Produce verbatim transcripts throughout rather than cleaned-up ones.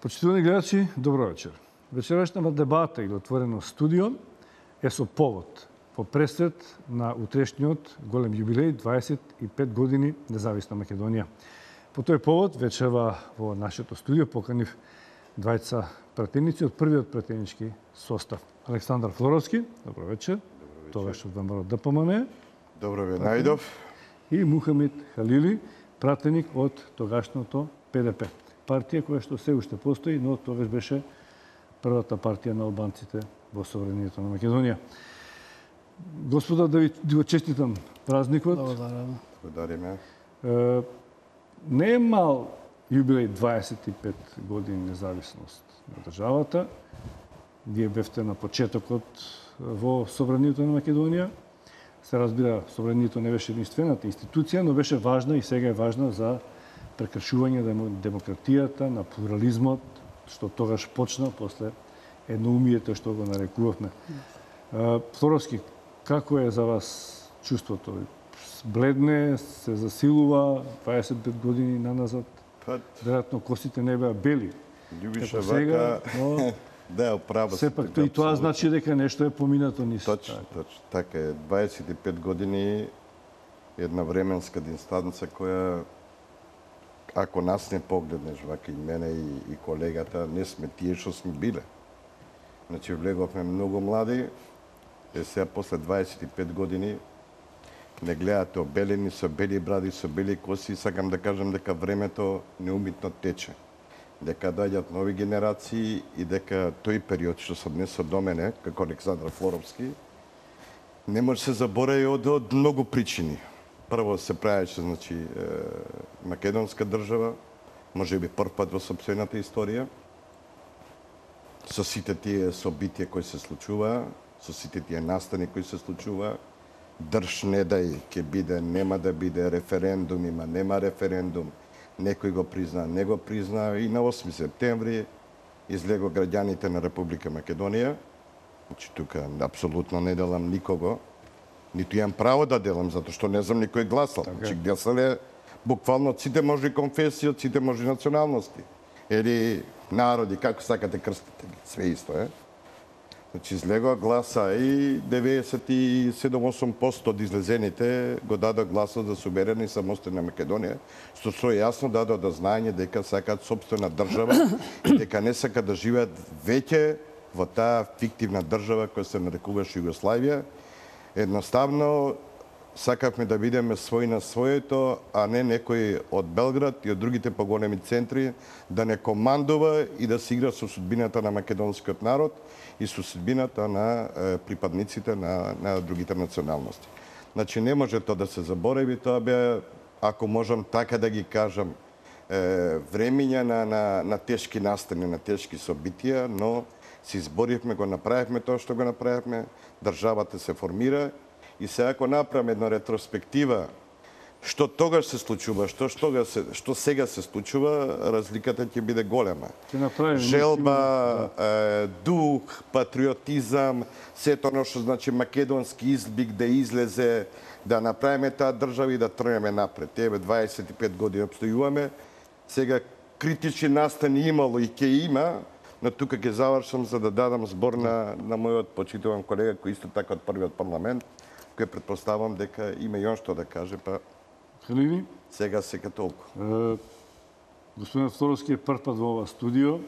Почитувани гледачи, добро вечер. Вечерашната дебата или отворено студио е со повод по пресред на утрешниот голем јубилеј дваесет и пет години независна Македонија. По тој повод вечерва во нашето студио поканив двајца пратеници од првиот пратенички состав. Александар Флоровски, добро вечер. Тогаш од ВМРО ДПМН. Добро ве најдов. И Мухамед Халили, пратеник од тогашното П Д П. Партија која што се уште постои, но тогаш беше првата партија на албанците во собранието на Македонија. Господа, да ви го честитам празникот. Благодарам. Благодариме. Не е мал јубилеј дваесет и пет години независност на државата. Вие бевте на почетокот во собранието на Македонија. Се разбира, собранието не беше единствената институција, но беше важна и сега е важна за прекршување на демократијата, на плурализмот, што тогаш почна после едноумието што го нарекувавме. Флоровски, како е за вас чувството? Бледне, се засилува дваесет и пет години наназад? Веројатно косите не беа бели. Љубише вака, но да, право. Сепак и тоа значи дека нешто е поминато низ. Точно, точно. Така е. дваесет и пет години една временска дистанца која, ако нас не погледнеш, вака и мене и, и колегата, не сме тие што сме биле. Значи, влеговме многу млади, е сега после дваесет и пет години не гледате обелени со бели бради, со бели коси, сакам да кажам дека времето неумитно тече. Дека доаѓаат нови генерации и дека тој период што се однесо до мене, како Александар Флоровски, не може се заборави од, од многу причини. Прво се правеше, значи, е, македонска држава, може би прв пат во сопствената историја, со сите тие собитија кои се случува, со сите тие настани кои се случува, држ не дај, ќе биде, нема да биде, референдум има, нема референдум, некој го призна, не го призна, и на осми септември излего граѓаните на Република Македонија. Значи, тука апсолутно не делам никого, ниту имам право да делам, затоа што не знам никој гласал. Okay. Значи, гласале буквално сите можни конфесии, ците можни националности. Или народи, како сакате крстите ги, све исто е. Значи, излегоа гласа и деветдесет и седум до осум проценти од излезените го дадоа гласот за суверена и самостојна Македонија, што со јасно дадоа до знаење дека сакаат сопствена држава и дека не сакаат да живеат веќе во таа фиктивна држава која се нарекуваше Југославија. Едноставно, сакавме да бидеме свој на своето, а не некој од Белград и од другите поголеми центри да не командува и да се игра со судбината на македонскиот народ и со судбината на е, припадниците на, на другите националности. Значи, не може тоа да се заборави, тоа бе, ако можам така да ги кажам, е, времења на, на, на тешки настани, на тешки собитија, но се изборивме, го направивме тоа што го направивме, државата се формира и сега ако направиме една ретроспектива што тогаш се случува, што што, се, што сега се случува, разликата ќе биде голема. Желба, е, дух, патриотизам, сето оно што значи македонски изблик да излезе, да направиме таа држава и да тргнеме напред. Еве дваесет и пет години обстојуваме. Сега критични настани имало и ќе има, но тука ќе завршам за да дадам збор на, на мојот почитуван колега кој исто така од првиот парламент, кој предпоставам дека има и он што да каже, па Халили? Сега сега толку. Е, господин Флоровски е прв пат во ова студио.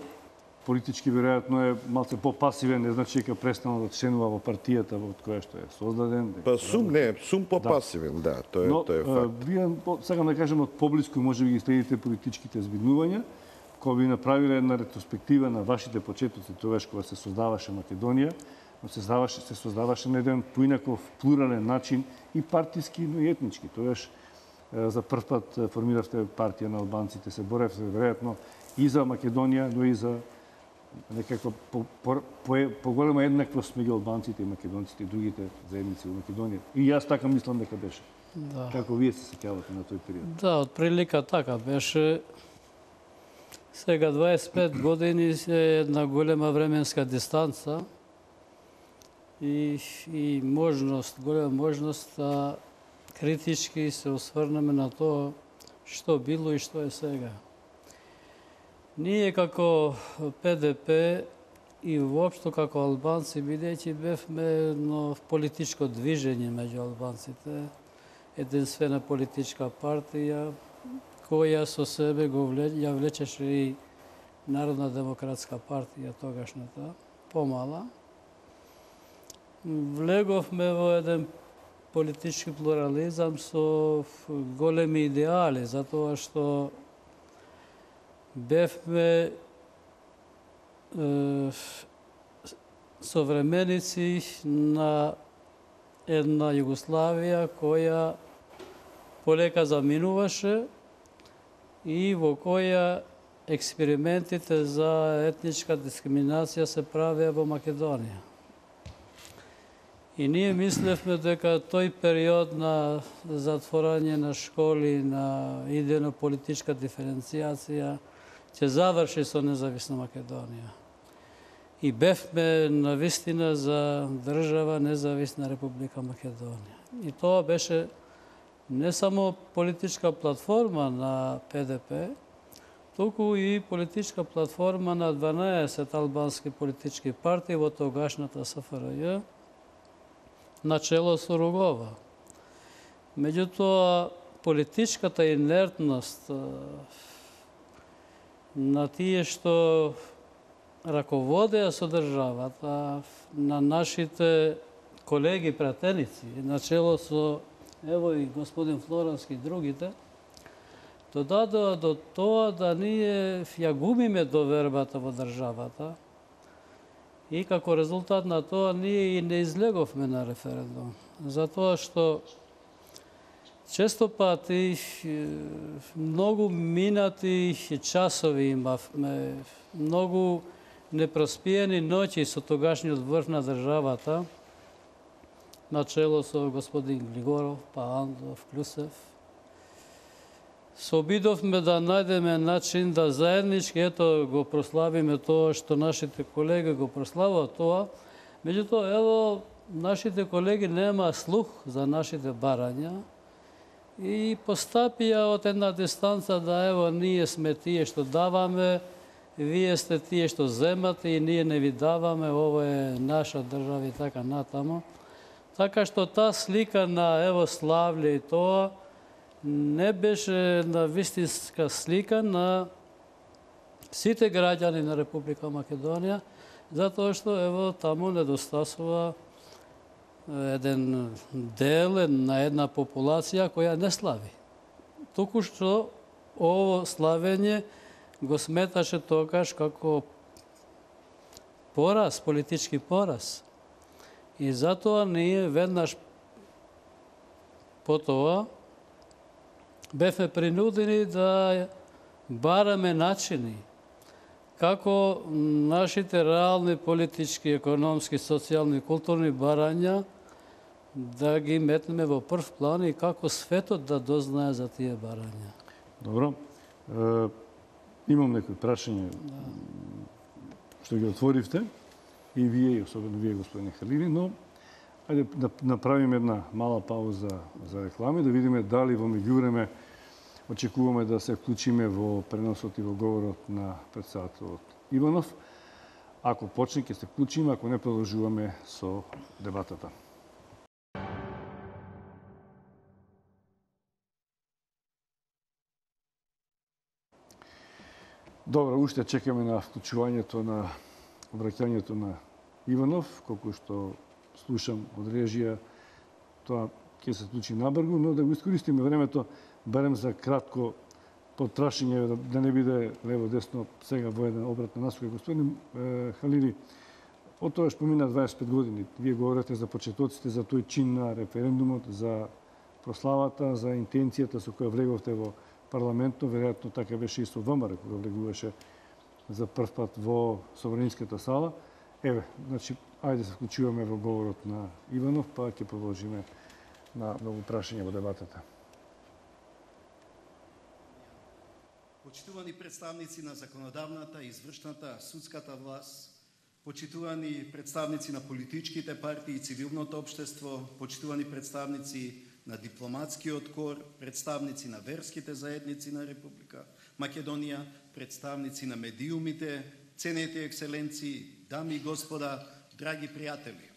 Политички веројатно е малце попасивен, не значи дека престанал да членува во партијата од која што е создаден. Па сум не, сум попасивен, да, да тоа е, но, тоа е факт. Вие, сакам да кажем, од поблиску може би ги следите политичките збиднувања, кои би направиле една ретроспектива на вашите почетоци тогаш кога се создаваше Македонија, но се создаваше, се создаваше на еден поинаков плурален начин и партиски, но и етнички. Тогаш за прв пат формиравте партија на албанците, се боревте веројатно и за Македонија, но и за некаква поголема еднаквост меѓу албанците и македонците и другите заедници во Македонија. И јас така мислам дека беше. Да. Како вие се сеќавате на тој период? Да, од прилика така беше. Сега дваесет и пет години е една голема временска дистанца и, и можност, голема можност да критички се осврнеме на тоа што било и што е сега. Ние како П Д П и воопшто како албанци, бидејќи бевме едно политичко движење меѓу албанците, единствена политичка партија, која со себе го вле, ја влечеше и Народна демократска партија, тогашната, помала. Влеговме во еден политички плурализам со големи идеали, затоа што бевме е, современици на една Југославија која полека заминуваше и во која експериментите за етничка дискриминација се правеа во Македонија. И ние мислевме дека тој период на затворање на школи, на идејно политичка диференцијација ќе заврши со независна Македонија. И бевме навистина за држава независна Република Македонија. И тоа беше не само политичка платформа на П Д П, туку и политичка платформа на дванаесет албански политички партии во тогашната С Ф Р Ј, начело со Ругова. Меѓутоа, политичката инертност на тие што раководеа со државата, на нашите колеги пратеници, начело со ево и господин Флорански и другите, додадоа до тоа да ние ја губиме довербата во државата и како резултат на тоа ние и не излеговме на референдум. Затоа што често пати многу минати часови имавме, многу непроспиени ноќи со тогашниот врв на државата, начело со господин Глигоров, па Андов, Клюсев. Се обидовме да најдеме начин да заеднички ето го прославиме тоа што нашите колеги го прославуваат тоа. Меѓутоа, ево, нашите колеги нема слух за нашите барања и постапија од една дистанца да ево ние сме тие што даваме, вие сте тие што земате и ние не ви даваме, ова е наша држава и така натаму. Така што таа слика на ево славле и тоа не беше на вистинска слика на сите граѓани на Република Македонија, затоа што ево таму недостасува еден дел на една популација која не слави. Туку што ово славење го сметаше тогаш како пораз, политички пораз. И затоа ние веднаш потоа бевме принудени да бараме начини како нашите реални политички, економски, социјални, културни барања да ги метнеме во прв план и како светот да дознае за тие барања. Добро. Е, имам некои прашања што ги отворивте и вие, и особено вие, господине Халили, но ајде да направиме една мала пауза за реклами, да видиме дали во меѓувреме очекуваме да се вклучиме во преносот и во говорот на претседателот Иванов. Ако почне, ќе се вклучиме, ако не, продолжуваме со дебатата. Добро, уште чекаме на вклучувањето на обраќањето на Иванов, колку што слушам од режија, тоа ќе се случи набрзо, но да го искористиме времето барем за кратко потрашање, да, да не биде лево-десно сега во еден обрат на насока. Господин е, Халили, од тоа што помина дваесет и пет години, вие говорите за почетоците, за тој чин на референдумот, за прославата, за интенцијата со која влеговте во парламентот, веројатно така беше и со ВМРО, кога влегуваше за прв пат во Собраниската сала. Еве, значи, ајде се вклучуваме во говорот на Иванов, па ќе продолжиме на многу прашања во дебатата. Почитувани представници на законодавната, извршната, судската власт, почитувани представници на политичките партии и цивилното општество, почитувани представници на дипломатскиот кор, представници на верските заедници на Република Македонија, представници на медиумите, ценети екселенции, дами и господа, драги пријатели.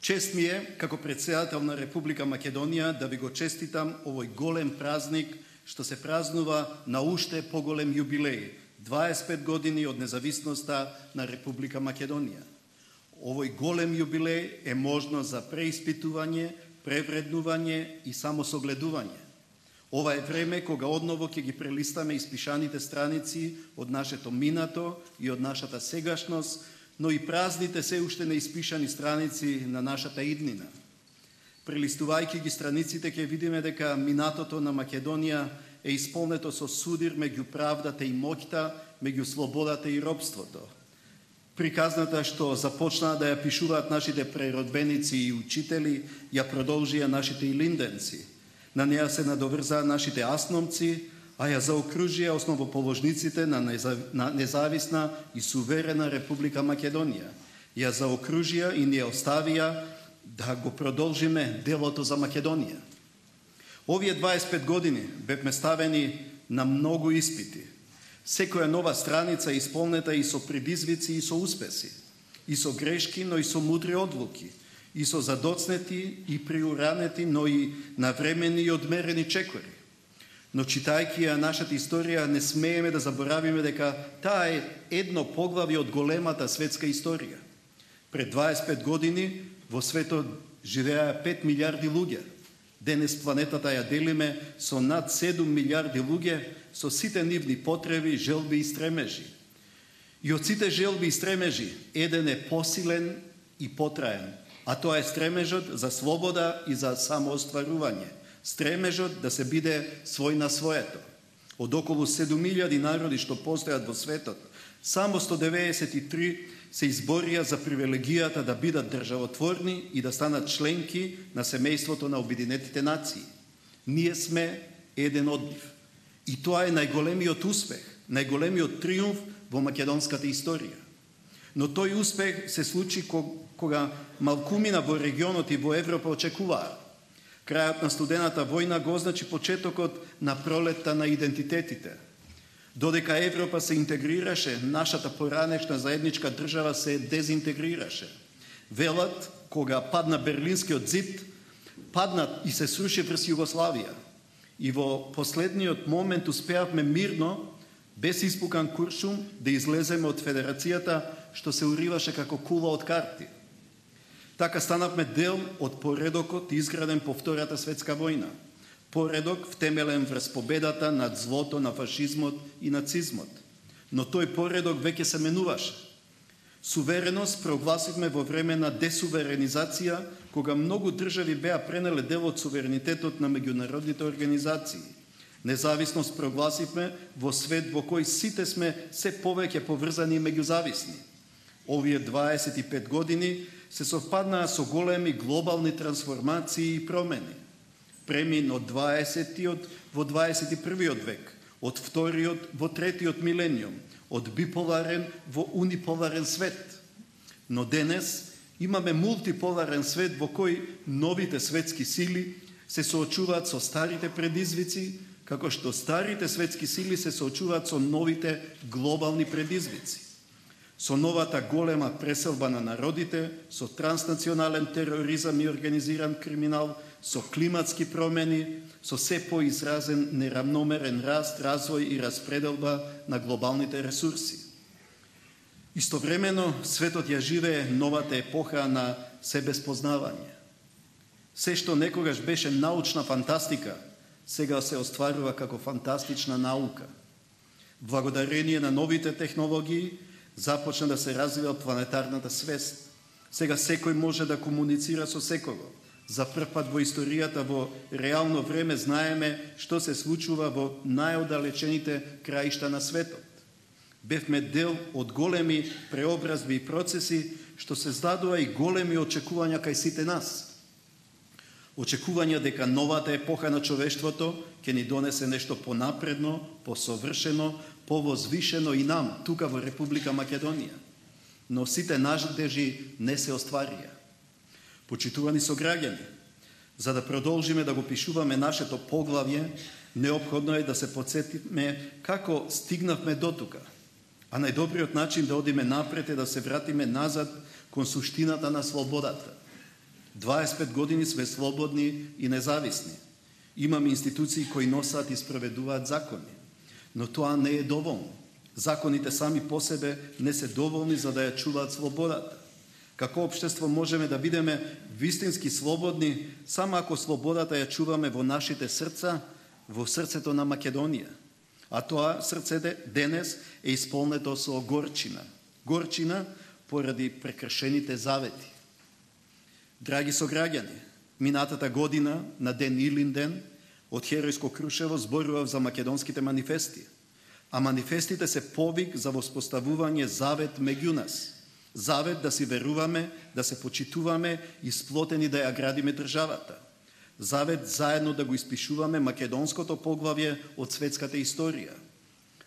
Чест ми е, како председател на Република Македонија, да ви го честитам овој голем празник, што се празнува на уште поголем јубилеј, дваесет и пет години од независноста на Република Македонија. Овој голем јубилеј е можност за преиспитување, превреднување и самосогледување. Ова е време кога одново ќе ги прелистаме испишаните страници од нашето минато и од нашата сегашност, но и празните се уште неиспишани страници на нашата иднина. Прелистувајќи ги страниците ќе видиме дека минатото на Македонија е исполнето со судир меѓу правдата и моќта, меѓу слободата и робството. Приказната што започнаа да ја пишуваат нашите преродбеници и учители, ја продолжија нашите илинденци. На неа се надоврзаа нашите асномци, а ја заокружија основоположниците на, незав... на независна и суверена Република Македонија. Ја заокружија и ни ја оставија да го продолжиме делото за Македонија. Овие дваесет и пет години бевме ставени на многу испити. Секоја нова страница исполнета и со предизвици и со успеси, и со грешки, но и со мудри одлуки, и со задоцнети и приуранети, но и навремени и одмерени чекори. Но читајќи ја нашата историја, не смееме да заборавиме дека таа е едно поглавје од големата светска историја. Пред дваесет и пет години во светот живееа пет милиарди луѓе. Денес планетата ја делиме со над седум милиарди луѓе, со сите нивни потреби, желби и стремежи. И од сите желби и стремежи, еден е посилен и потраен, а тоа е стремежот за слобода и за самоостварување. Стремежот да се биде свој на своето. Од околу седум илјади народи што постојат во светот, само сто деветдесет и три се изборија за привилегијата да бидат државотворни и да станат членки на семејството на Обединетите нации. Ние сме еден од нив. И тоа е најголемиот успех, најголемиот триумф во македонската историја. Но тој успех се случи кога малкумина во регионот и во Европа очекуваа. Крајот на студената војна го означи почетокот на пролетта на идентитетите. Додека Европа се интегрираше, нашата поранешна заедничка држава се дезинтегрираше. Велат, кога падна Берлинскиот зид, падна и се сруши врз Југославија. И во последниот момент успеавме мирно, без испукан куршум, да излеземе од федерацијата што се уриваше како кула од карти. Така станавме дел од поредокот изграден по Втората светска војна. Поредок втемелен врз победата над злото на фашизмот и нацизмот. Но тој поредок веќе се менуваше. Сувереност прогласивме во време на десуверенизација, кога многу држави беа пренеле дел од суверенитетот на меѓународните организации. Независност прогласивме во свет во кој сите сме се повеќе поврзани и меѓузависни. Овие дваесет и пет години се совпаднаа со големи глобални трансформации и промени. Премин од дваесетиот во дваесет и првиот век, од вториот во третиот милениум, од биполарен во униполарен свет. Но денес имаме мултиполарен свет во кој новите светски сили се соочуваат со старите предизвици, како што старите светски сили се соочуваат со новите глобални предизвици. Со новата голема преселба на народите, со транснационален тероризам и организиран криминал, со климатски промени, со се поизразен неравномерен раст, развој и распределба на глобалните ресурси. Истовремено, светот ја живее новата епоха на себеспознавање. Се што некогаш беше научна фантастика, сега се остварува како фантастична наука. Благодарение на новите технологии, започна да се развива планетарната свест. Сега секој може да комуницира со секого. За прв пат во историјата во реално време знаеме што се случува во најоддалечените краишта на светот. Бевме дел од големи преобразби и процеси што се здадува и големи очекувања кај сите нас. Очекувања дека новата епоха на човештвото ќе ни донесе нешто понапредно, посовршено, повозвишено и нам, тука во Република Македонија. Но сите надежи не се остварија. Почитувани сограѓани, за да продолжиме да го пишуваме нашето поглавје, Неопходно е да се подсетиме како стигнавме до тука. А најдобриот начин да одиме напред е да се вратиме назад кон суштината на слободата. дваесет и пет години сме слободни и независни. Имаме институции кои носат и спроведуваат закони. Но тоа не е доволно. Законите сами по себе не се доволни за да ја чуваат слободата. Како општество можеме да бидеме вистински слободни само ако слободата ја чуваме во нашите срца, во срцето на Македонија. А тоа срце денес е исполнето со горчина. Горчина поради прекршените завети. Драги сограѓани, минатата година на ден Илинден од Херојско Крушево зборував за македонските манифести. А манифестите се повик за воспоставување завет меѓу нас. Завет да си веруваме, да се почитуваме и сплотени да ја градиме државата. Завет заедно да го испишуваме македонското поглавје од светската историја.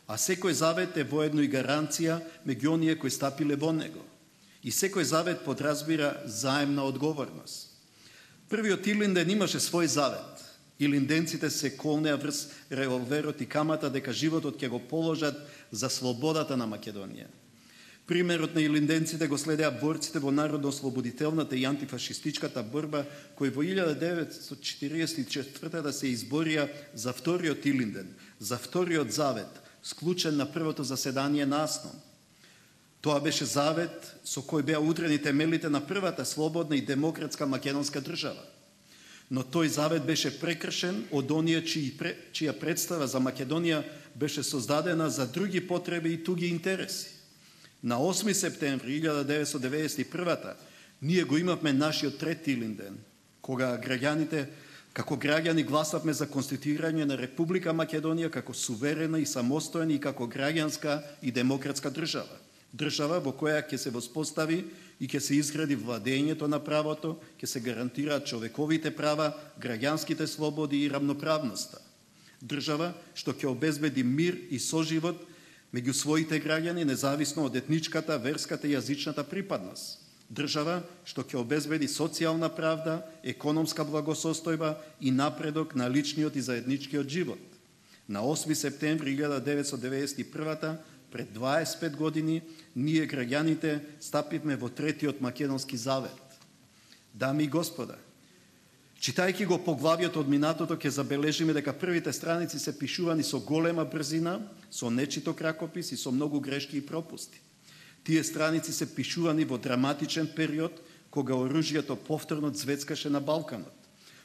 А секој завет е воедно и гаранција меѓу оние кои стапиле во него. И секој завет подразбира заемна одговорност. Првиот Илинден имаше свој завет. Илинденците се колнеа врз револверот и камата дека животот ќе го положат за слободата на Македонија. Примерот на илинденците го следеа борците во народно-ослободителната и антифашистичката борба, кои во илјада деветстотини четиридесет и четвртата се изборија за вториот Илинден, за вториот завет, склучен на првото заседание на АСНОМ. Тоа беше завет со кој беа удрени темелите на првата слободна и демократска македонска држава. Но тој завет беше прекршен од оние чија представа за Македонија беше создадена за други потреби и туги интереси. На осми септември илјада деветстотини деветдесет и првата ние го имавме нашиот трети Илинден, кога граѓаните, како граѓани гласавме за конституирање на Република Македонија како суверена и самостојна и како граѓанска и демократска држава. Држава во која ќе се воспостави и ќе се изгради владењето на правото, ќе се гарантираат човековите права, граѓанските слободи и рамноправноста. Држава што ќе обезбеди мир и соживот меѓу своите граѓани, независно од етничката, верската и јазичната припадност. Држава што ќе обезбеди социјална правда, економска благосостојба и напредок на личниот и заедничкиот живот. На осми септември илјада деветстотини деветдесет и првата, пред дваесет и пет години, ние граѓаните стапивме во третиот македонски завет. Дами и господа, читајќи го поглавието од минатото, ќе забележиме дека првите страници се пишувани со голема брзина, со нечиток ракопис и со многу грешки и пропусти. Тие страници се пишувани во драматичен период, кога оружјето повторно цвецкаше на Балканот,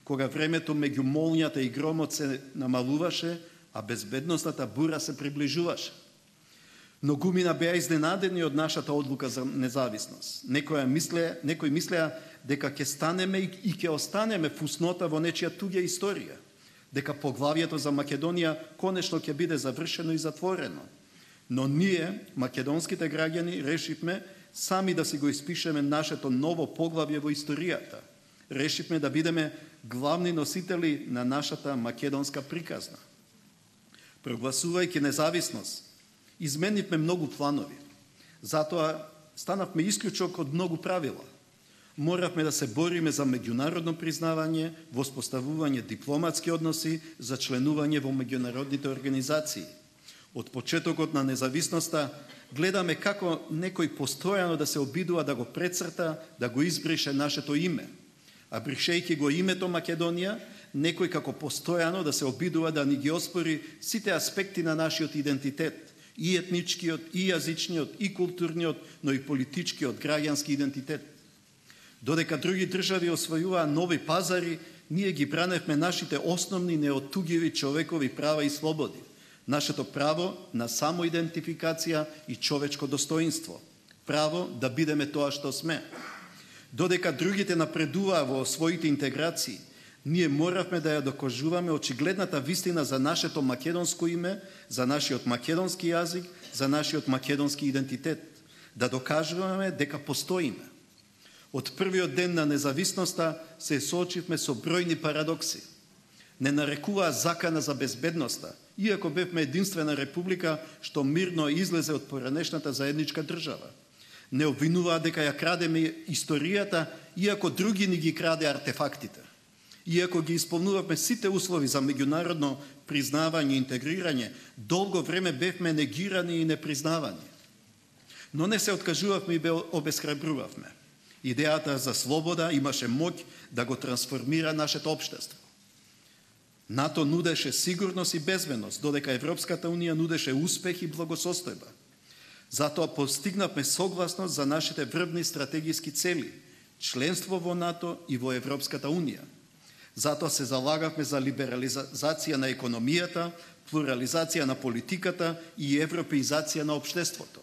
кога времето меѓу молњата и громот се намалуваше, а безбедностната бура се приближуваше. Многумина беа изненадени од нашата одлука за независност. Некои мислеа, некои мислеа дека ќе станеме и ќе останеме фуснота во нечија туѓа историја, дека поглавието за Македонија конечно ќе биде завршено и затворено. Но ние, македонските граѓани, решивме сами да си го испишеме нашето ново поглавје во историјата. Решивме да бидеме главни носители на нашата македонска приказна. Прогласувајќи независност, изменивме многу планови. Затоа станавме исклучок од многу правила. Моравме да се бориме за меѓународно признавање, воспоставување дипломатски односи, за членување во меѓународните организации. Од почетокот на независноста гледаме како некој постојано да се обидува да го прецрта, да го избрише нашето име. А бришејќи го името Македонија, некој како постојано да се обидува да ни ги оспори сите аспекти на нашиот идентитет, и етничкиот, и јазичниот, и културниот, но и политичкиот, граѓански идентитет. Додека други држави освојуваа нови пазари, ние ги браневме нашите основни неоттугиви човекови права и слободи, нашето право на самоидентификација и човечко достоинство, право да бидеме тоа што сме. Додека другите напредуваа во своите интеграции, ние моравме да ја докажуваме очигледната вистина за нашето македонско име, за нашиот македонски јазик, за нашиот македонски идентитет, да докажуваме дека постоиме. Од првиот ден на независноста се соочивме со бројни парадокси. Не нарекуваа закана за безбедноста, иако бевме единствена република што мирно излезе од поранешната заедничка држава. Не обвинуваа дека ја крадеме историјата, иако други ни ги краде артефактите. Иако ги исполнувавме сите услови за меѓународно признавање и интегрирање, долго време бевме негирани и непризнавани. Но не се откажувавме и обесхрабрувавме. Идејата за слобода имаше моќ да го трансформира нашето општество. НАТО нудеше сигурност и безбедност, додека Европската унија нудеше успех и благосостојба. Затоа постигнавме согласност за нашите врвни стратегиски цели, членство во НАТО и во Европската унија. Затоа се залагавме за либерализација на економијата, плурализација на политиката и европеизација на општеството.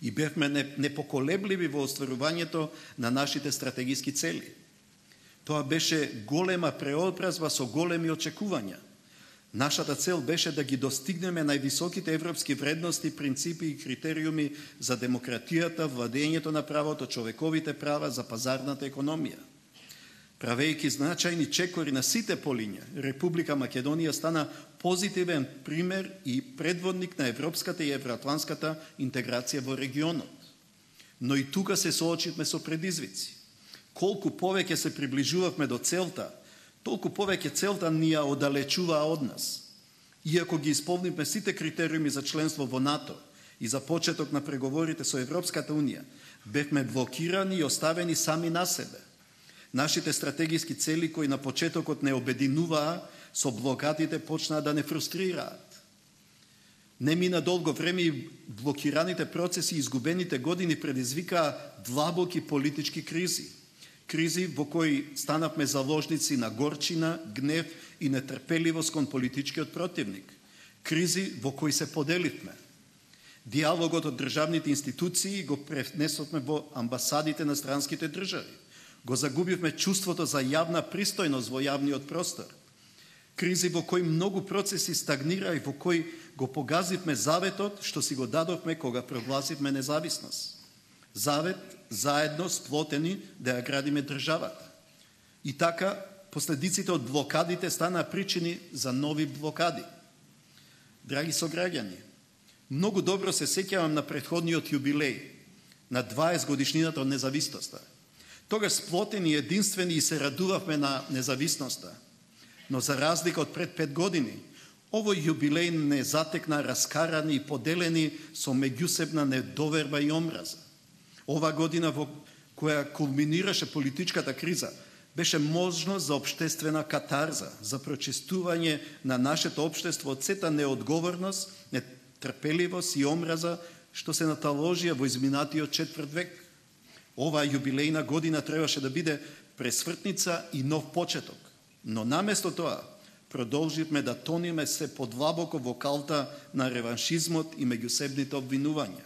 И бевме непоколебливи во остварувањето на нашите стратегиски цели. Тоа беше голема преобразба со големи очекувања. Нашата цел беше да ги достигнеме највисоките европски вредности, принципи и критериуми за демократијата, владењето на правото, човековите права, за пазарната економија. Правејќи значајни чекори на сите полиња, Република Македонија стана позитивен пример и предводник на европската и евроатланската интеграција во регионот. Но и тука се соочивме со предизвици. Колку повеќе се приближувавме до целта, толку повеќе целта ни ја оддалечуваа од нас. Иако ги исполнивме сите критериуми за членство во НАТО и за почеток на преговорите со Европската унија, бевме блокирани и оставени сами на себе. Нашите стратегиски цели кои на почетокот не обединуваа, со блокадите почнаа да не фрустрираат. Не мина долго време и блокираните процеси и изгубените години предизвикаа длабоки политички кризи. Кризи во кои станавме заложници на горчина, гнев и нетрпеливост кон политичкиот противник. Кризи во кои се поделивме. Диалогот од државните институции го пренесовме во амбасадите на странските држави. Го загубивме чувството за јавна пристојност во јавниот простор. Кризи во кои многу процеси стагнира и во кои го погазивме заветот што си го дадовме кога прогласивме независност. Завет заедно сплотени да ја градиме државата. И така, последиците од блокадите станаа причини за нови блокади. Драги сограѓани, многу добро се сеќавам на претходниот јубилеј, на дваесет годишнината од независноста. Тогаш сплотени, единствени и се радувавме на независноста. Но за разлика од пред пет години, овој јубилеј не затекна раскарани и поделени со меѓусебна недоверба и омраза. Ова година во која кулминираше политичката криза, беше можност за општествена катарза, за прочистување на нашето општество од сета неодговорност, нетрпеливост и омраза што се наталожија во изминатиот четврт век. Оваа јубилејна година требаше да биде пресвртница и нов почеток. Но наместо тоа, продолживме да тониме се подлабоко во калта на реваншизмот и меѓусебните обвинувања.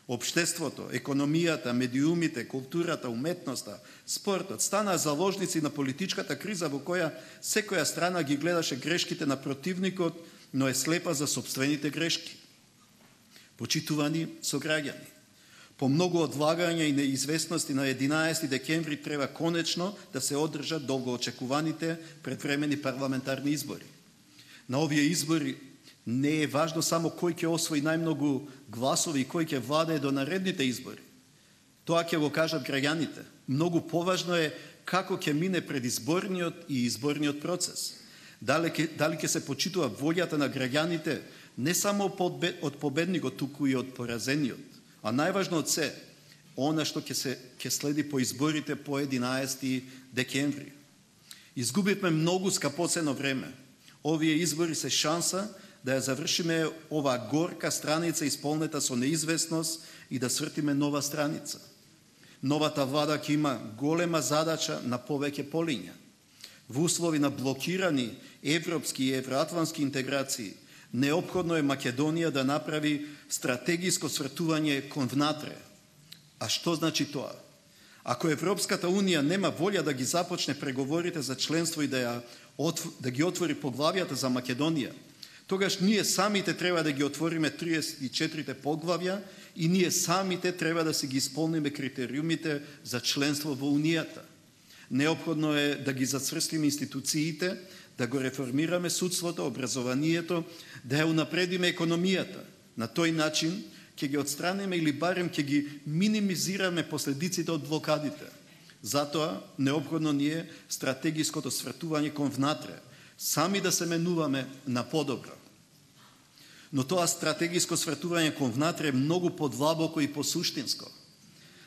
Обштеството, економијата, медиумите, културата, уметноста, спортот станаа заложници на политичката криза во која секоја страна ги гледаше грешките на противникот, но е слепа за сопствените грешки. Почитувани сограѓани, по многу одлагања и неизвестности на единаесети декември треба конечно да се одржат долгоочекуваните предвремени парламентарни избори. На овие избори не е важно само кој ќе освои најмногу гласови и кој ќе владее до наредните избори. Тоа ќе го кажат граѓаните. Многу поважно е како ќе мине предизборниот и изборниот процес. Дали ќе, дали ќе се почитува волјата на граѓаните не само од победникот, туку и од поразениот. А најважно од се, она што ќе се ќе следи по изборите по единаесети декември. Изгубивме многу скапоцено време. Овие избори се шанса да ја завршиме оваа горка страница исполнета со неизвестност и да свртиме нова страница. Новата влада ќе има голема задача на повеќе полиња. Во услови на блокирани европски и евроатлански интеграции, неопходно е Македонија да направи стратегиско свртување кон внатре. А што значи тоа? Ако Европската унија нема волја да ги започне преговорите за членство и да, ја, да ги отвори поглавјата за Македонија, тогаш ние самите треба да ги отвориме триесет и четири поглавја и ние самите треба да си ги исполниме критериумите за членство во Унијата. Неопходно е да ги зацврстиме институциите, да го реформираме судството, образованието, да ја унапредиме економијата. На тој начин ќе ги отстраниме или барем ќе ги минимизираме последиците од блокадите. Затоа, необходно ни е стратегиското свртување кон внатре, сами да се менуваме на подобро. Но тоа стратегиско свртување кон внатре е многу подлабоко и посуштинско.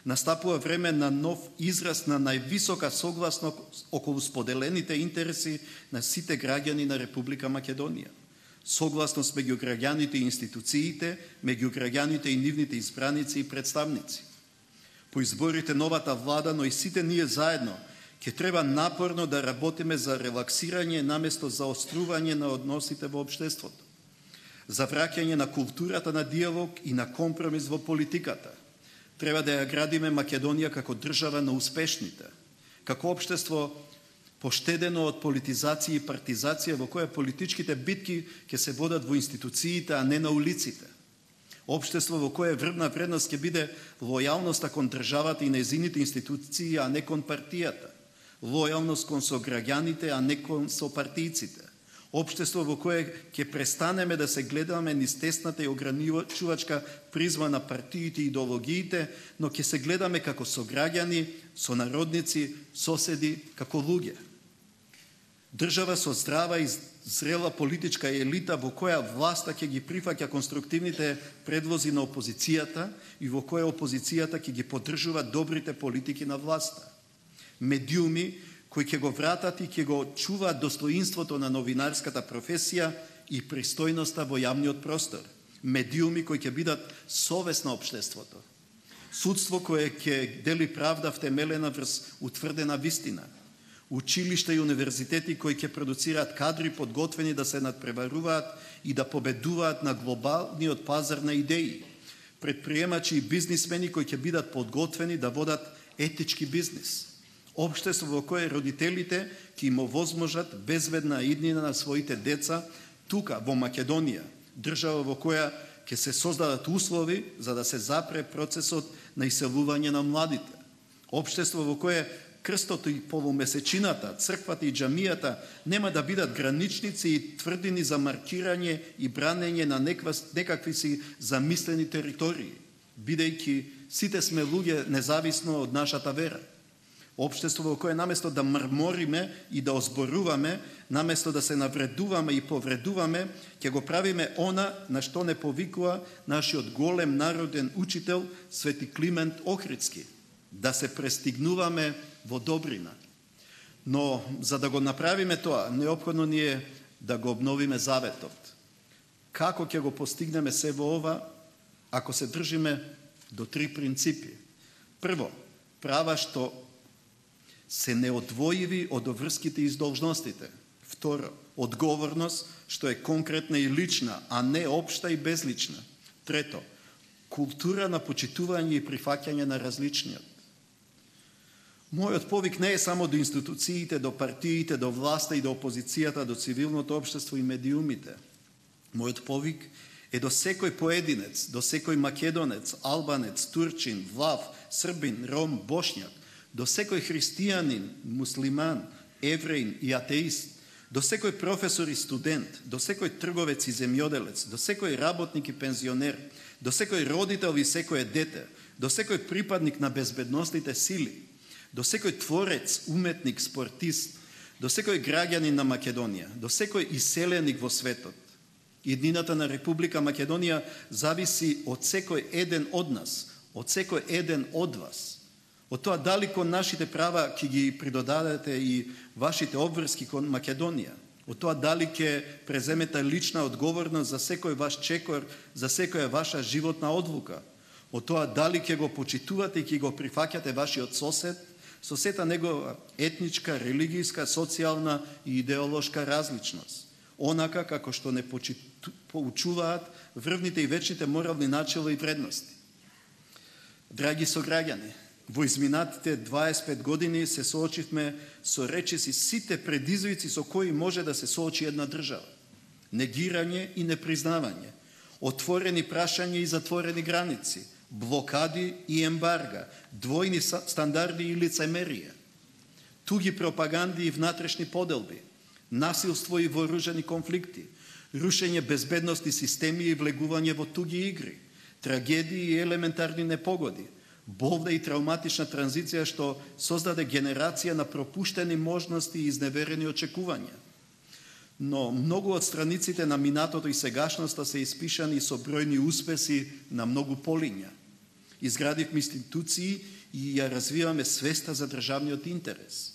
Настапува време на нов израз на највисока согласност околу споделените интереси на сите граѓани на Република Македонија. Согласност меѓу граѓаните и институциите, меѓу граѓаните и нивните избраници и представници. По изборите новата влада, но и сите ние заедно, ќе треба напорно да работиме за релаксирање наместо за острување на односите во општеството, за враќање на културата на диалог и на компромис во политиката. Треба да ја градиме Македонија како држава на успешните, како општество поштедено од политизација и партизација во која политичките битки ќе се водат во институциите, а не на улиците. Општество во кое врвна вредност ќе биде лојалноста кон државата и нејзините институции, а не кон партијата. Лојалност кон сограѓаните, а не кон сопартијците. Општество во кое ќе престанеме да се гледаме низ тесната и ограничувачка призма на партиите и идеологиите, но ќе се гледаме како сограѓани, сонародници, соседи, како луѓе. Држава со здрава и зрела политичка елита во која власта ќе ги прифаќа конструктивните предлози на опозицијата и во која опозицијата ќе ги поддржува добрите политики на власта. Медиуми кои ќе го вратат и ќе го чуваат достоинството на новинарската професија и пристојноста во јавниот простор. Медиуми кои ќе бидат совест на општеството. Судство кое ќе дели правда втемелена врз утврдена вистина. Училишта и универзитети кои ќе продуцираат кадри подготвени да се надпреваруваат и да победуваат на глобалниот пазар на идеи. Предприемачи и бизнисмени кои ќе бидат подготвени да водат етички бизнис. Општество во кое родителите ќе им овозможат безбедна иднина на своите деца тука во Македонија, држава во која ќе се создадат услови за да се запре процесот на иселување на младите. Општество во кое крстото и полумесечината, црквата и џамијата нема да бидат граничници и тврдини за маркирање и бранење на некакви си замислени територии, бидејќи сите сме луѓе независно од нашата вера. Општество во кое наместо да мрмориме и да озборуваме, наместо да се навредуваме и повредуваме, ќе го правиме она на што не повикува нашиот голем народен учител Свети Климент Охридски, да се престигнуваме во добрина. Но за да го направиме тоа, неопходно ни е да го обновиме заветот. Како ќе го постигнеме се во ова, ако се држиме до три принципи? Прво, права што се неодвоиви од обврските и должностите. Второ, одговорност што е конкретна и лична, а не општа и безлична. Трето, култура на почитување и прифаќање на различниот. Мојот повик не е само до институциите, до партиите, до власта и до опозицијата, до цивилното општество и медиумите. Мојот повик е до секој поединец, до секој македонец, албанец, турчин, влав, србин, ром, бошњак, до секој христијанин, муслиман, евреин и атеист, до секој професор и студент, до секој трговец и земјоделец, до секој работник и пензионер, до секој родител и секој дете, до секој припадник на безбедностните сили, до секој творец, уметник, спортист, до секој граѓанин на Македонија, до секој иселеник во светот. Иднината на Република Македонија зависи од секој еден од нас, од секој еден од вас. Од тоа дали кон нашите права ќе ги придодадете и вашите обврски кон Македонија. Од тоа дали ќе преземете лична одговорност за секој ваш чекор, за секоја ваша животна одлука. Од тоа дали ќе го почитувате и ќе го прифаќате вашиот сосед, со сета негова етничка, религијска, социјална и идеолошка различност. Онака како што не поучуваат врвните и вечните морални начела и вредности. Драги сограѓани, во изминатите дваесет и пет години се соочивме со речиси сите предизвици со кои може да се соочи една држава. Негирање и непризнавање, отворени прашања и затворени граници, блокади и ембарга, двојни стандарди и лицемерие, туги пропаганди и внатрешни поделби, насилство и вооружени конфликти, рушење безбедности системи и влегување во туги игри, трагедии и елементарни непогоди, Болна и травматична транзиција што создаде генерација на пропуштени можности и изневерени очекувања. Но многу од страниците на минатото и сегашноста се испишани со бројни успеси на многу полиња. Изградивме институции и ја развиваме свеста за државниот интерес.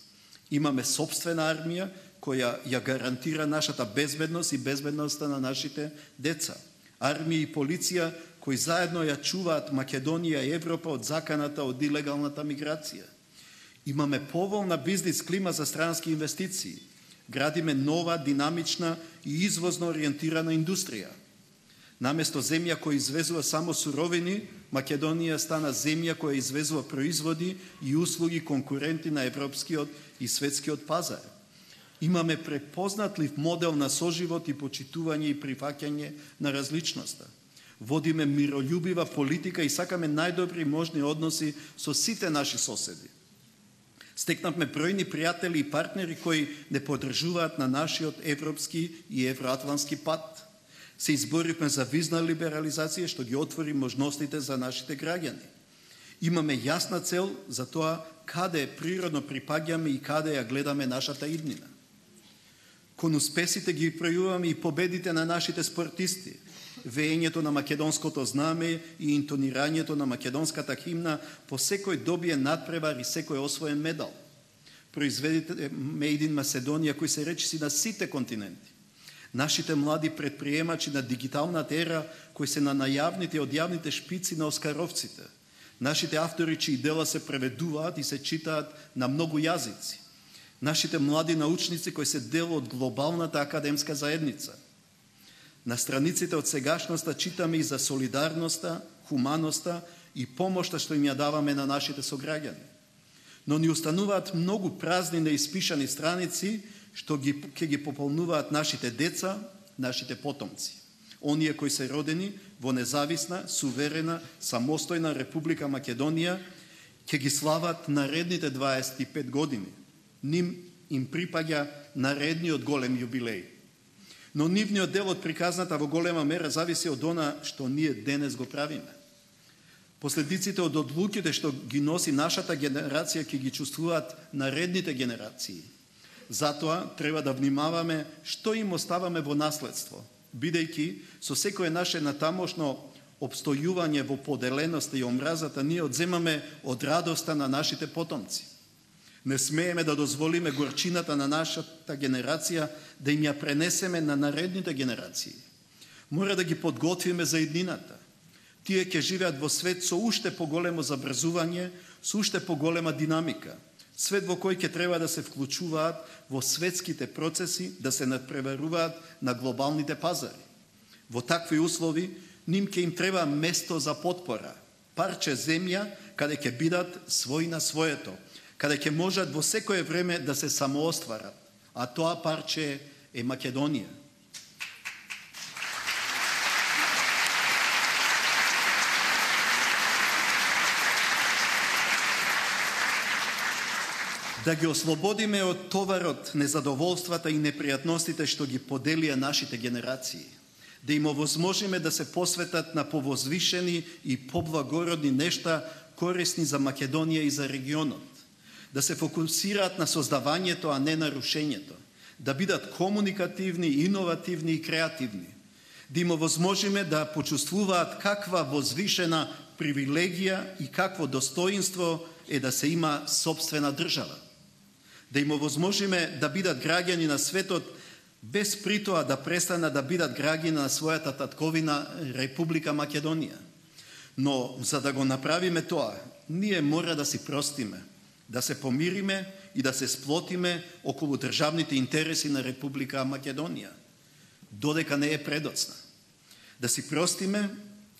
Имаме собствена армија која ја гарантира нашата безбедност и безбедноста на нашите деца. Армија и полиција кои заедно ја чуваат Македонија и Европа од заканата од илегалната миграција. Имаме поволна бизнис клима за странски инвестиции. Градиме нова, динамична и извозно ориентирана индустрија. Наместо земја која извезува само суровини, Македонија стана земја која извезува производи и услуги конкуренти на европскиот и светскиот пазар. Имаме препознатлив модел на соживот и почитување и прифаќање на различноста. Водиме миролюбива политика и сакаме најдобри можни односи со сите наши соседи. Стекнавме бројни пријатели и партнери кои не поддржуваат на нашиот европски и евроатлантски пат. Се изборивме за визна либерализација што ги отвори можностите за нашите граѓани. Имаме јасна цел за тоа каде природно припаѓаме и каде ја гледаме нашата иднина. Кон успесите ги пројуваме и победите на нашите спортисти, веењето на македонското знаме и интонирањето на македонската химна по секој добие надпревар и секој освоен медал. Произведите Made in Macedоnia кои се речиси на сите континенти. Нашите млади предприемачи на дигиталната ера кои се на најавните и одјавните шпици на оскаровците. Нашите автори чии дела се преведуваат и се читаат на многу јазици. Нашите млади научници кои се дел од глобалната академска заедница. На страниците од сегашноста читаме и за солидарноста, хуманоста и помошта што им ја даваме на нашите сограѓани. Но ни остануваат многу празни неиспишани страници што ги, ќе ги пополнуваат нашите деца, нашите потомци. Оние кои се родени во независна, суверена, самостојна Република Македонија ќе ги слават наредните дваесет и пет години. Ним им припаѓа наредниот голем јубилеј. Но нивниот дел од приказната во голема мера зависи од она што ние денес го правиме. Последиците од одлуките што ги носи нашата генерација ќе ги чувствуваат наредните генерации. Затоа треба да внимаваме што им оставаме во наследство, бидејќи со секое наше натамошно обстојување во поделеноста и омразата ние одземаме од радоста на нашите потомци. Не смееме да дозволиме горчината на нашата генерација да им ја пренесеме на наредните генерации. Мора да ги подготвиме за иднината. Тие ќе живеат во свет со уште поголемо забрзување, со уште поголема динамика. Свет во кој ќе треба да се вклучуваат во светските процеси, да се надпреваруваат на глобалните пазари. Во такви услови, ним ќе им треба место за потпора, парче земја каде ќе бидат свој на своето, каде ќе можат во секое време да се самоостварат, а тоа парче е Македонија. Да ги ослободиме од товарот, незадоволствата и непријатностите што ги поделија нашите генерации, да им овозможиме да се посветат на повозвишени и поблагородни нешта корисни за Македонија и за регионот, да се фокусираат на создавањето, а не на рушењето, да бидат комуникативни, иновативни и креативни, да им овозможиме да почувствуваат каква возвишена привилегија и какво достоинство е да се има собствена држава, да им овозможиме да бидат граѓани на светот без притоа да престанат да бидат граѓани на својата татковина Република Македонија. Но за да го направиме тоа, ние мора да си простиме, да се помириме и да се сплотиме околу државните интереси на Република Македонија, додека не е предоцна. Да си простиме,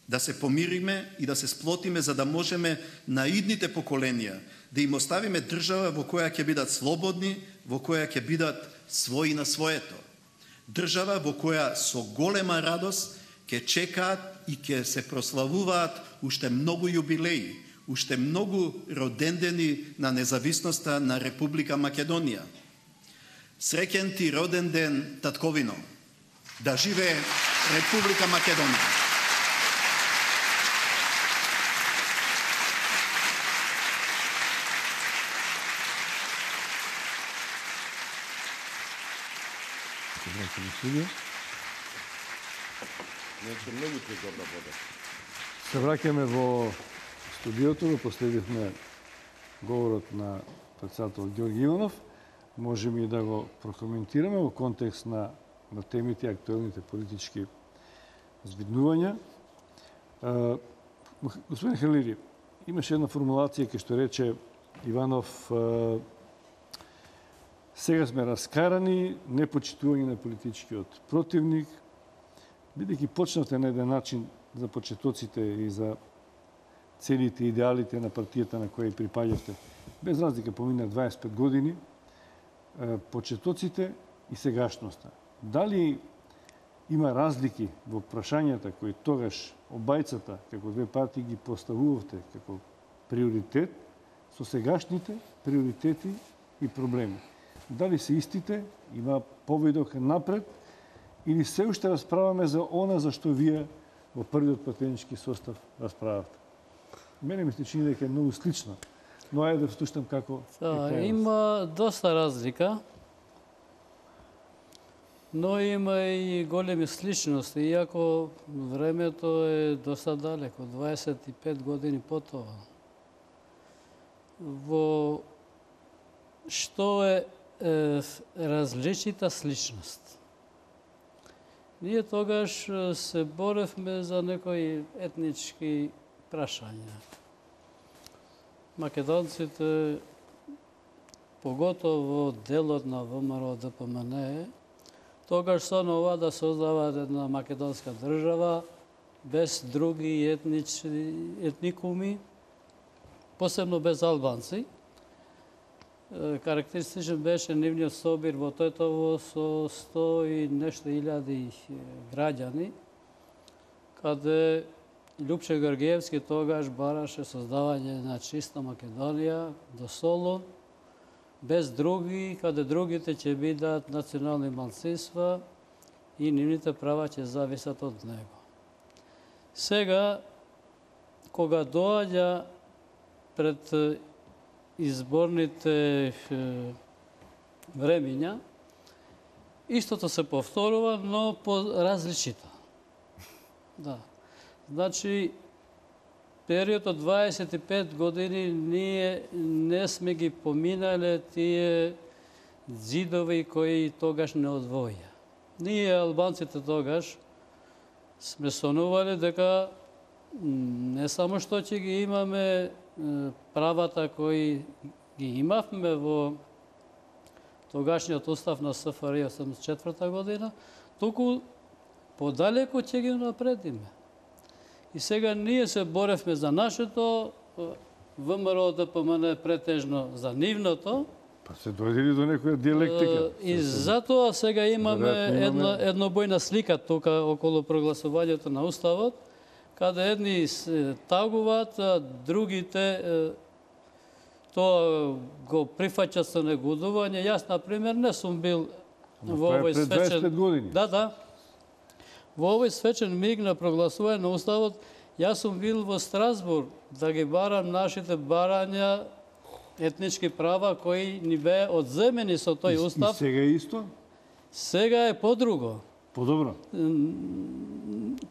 да се помириме и да се сплотиме за да можеме на идните поколенија да им оставиме држава во која ќе бидат слободни, во која ќе бидат своји на своето. Држава во која со голема радост ќе чекаат и ќе се прославуваат уште многу јубилеи, уште многу родендени на независноста на Република Македонија. Среќен ти роден ден, татковино! Да живее Република Македонија! се враќаме во студио. Нече многу пригодна вода. Се враќаме во студиото, го последивме говорот на председател Ѓорги Иванов. Можеме и да го прокоментираме во контекст на, на темите и актуелните политички збиднувања. Uh, господин Халири, имаше една формулација кај што рече Иванов, uh, сега сме раскарани, непочитување на политичкиот противник, бидејќи почнавте на еден начин за почетоците и за целите и идеалите на партијата на која припаѓавте. Без разлика помина дваесет и пет години, почетоците и сегашноста. Дали има разлики во прашањата кои тогаш обајцата, како две партии, ги поставувавте како приоритет со сегашните приоритети и проблеми? Дали се истите, има повидок напред, или се уште расправаме за она за што вие во првиот пратенички состав расправавте? Мене ми се чини дека е многу слично, но ајде да слушам како... Да, има доста разлика, но има и големи сличности, иако времето е доста далеко, дваесет и пет години по тоа. Во што е, е различита сличност? Ние тогаш се боревме за некои етнички прашања. Македонците, поготово делот на ВМРО Д П М Н, тогаш сонува да создаваат една македонска држава без други етнични, етникуми, посебно без албанци. Карактеристичен беше нивниот собир во Тетово со сто и нешто илјади граѓани, каде Љупче Георгиевски тогаш бараше создавање на чиста Македонија до Солун, без други, каде другите ќе бидат национални малцинства и нивните права ќе зависат од него. Сега, кога доаѓа пред изборните времиња, истото се повторува, но по различито. Да. Значи, период од дваесет и пет години ние не сме ги поминале тие зидови кои тогаш не одвоја. Ние, албанците, тогаш сме сонувале дека не само што ќе ги имаме правата кои ги имавме во тогашниот устав на С Ф R I осемдесет и четврта година, туку подалеку ќе ги напредиме. И сега ние се боревме за нашето, ВМРО Д П М Н претежно за нивното. Па се дојдели до некоја диалектика. И затоа сега имаме една еднобојна слика тука околу прогласувањето на уставот, каде едни се тагуваат, а другите тоа го прифаќаат со негодување. Јас, например, не сум бил во овој свечен... Да, да. Во овој свечен миг на прогласување на уставот, јас сум бил во Страсбург да ги барам нашите барања етнички права кои ни беа одземени со тој устав. И сега е исто? Сега е подруго. Подобро?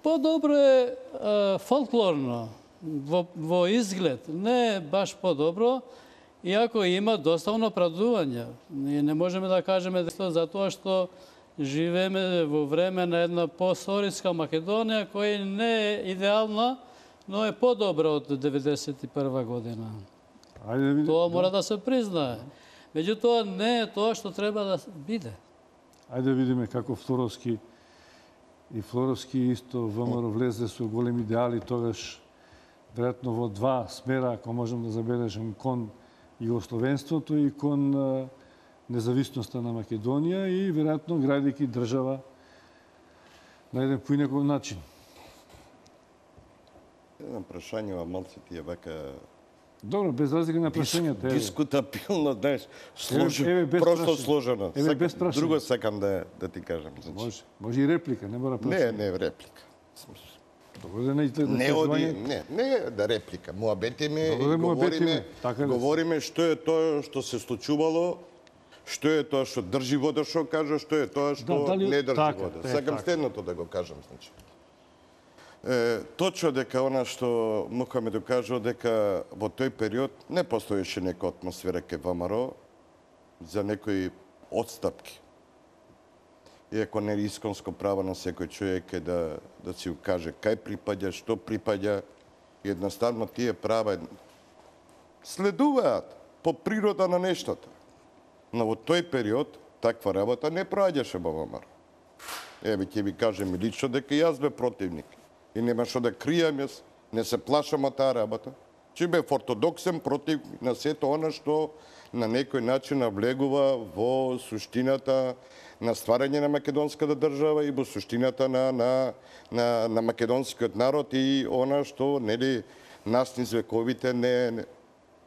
Подобро е, е фолклорно, во, во изглед. Не е баш подобро, иако има доста оправдувања. Ние не можеме да кажеме дека затоа што живееме во време на една посторичка Македонија која не е идеална, но е подобра од деветдесет и прва година. Ајде да Тоа мора да се признае. Меѓутоа не е тоа што треба да биде. Ајде да видиме како Флоровски и Флоровски исто ВМРО влезе со големи идеали тогаш, веројатно во два смера, ако можем да забележим, кон југословенството и кон независноста на Македонија и веројатно градејќи држава на еден поинаков начин. Едно прашање во малци ти е вака... Добро, без разлика на прашањата. Дискутабилно, знаеш, сложено, просто прашање. сложено. Еве, Сакам, без прашање. друго сакам да, да ти кажам. Значи. Може, може и реплика, не мора прашање. Не, не реплика. Добро да не изгледа Не оди, не, не да реплика. Муабетиме и говориме, така говориме што е тоа што се случувало, Што е тоа што држи вода, што кажа, што е тоа што Да, дали- не држи така, вода. е, Сакам така. следното да го кажам, значи. Е, точно дека она што Мухамед кажа дека во тој период не постоеше нека атмосфера ке ВМРО за некои отстапки. Иако не е исконско право на секој човек е да, да си укаже кај припаѓа, што припаѓа, едноставно тие права следуваат по природа на нештата. Но во тој период таква работа не проаѓаше во ВМРО. Еве ќе ви кажем и лично дека јас бе противник. И нема што да кријам, јас не се плашам од таа работа. Че бев ортодоксен против на сето она што на некој начин навлегува во суштината на стварање на македонската држава и во суштината на, на, на, на македонскиот народ и она што нели нас низ вековите не, не,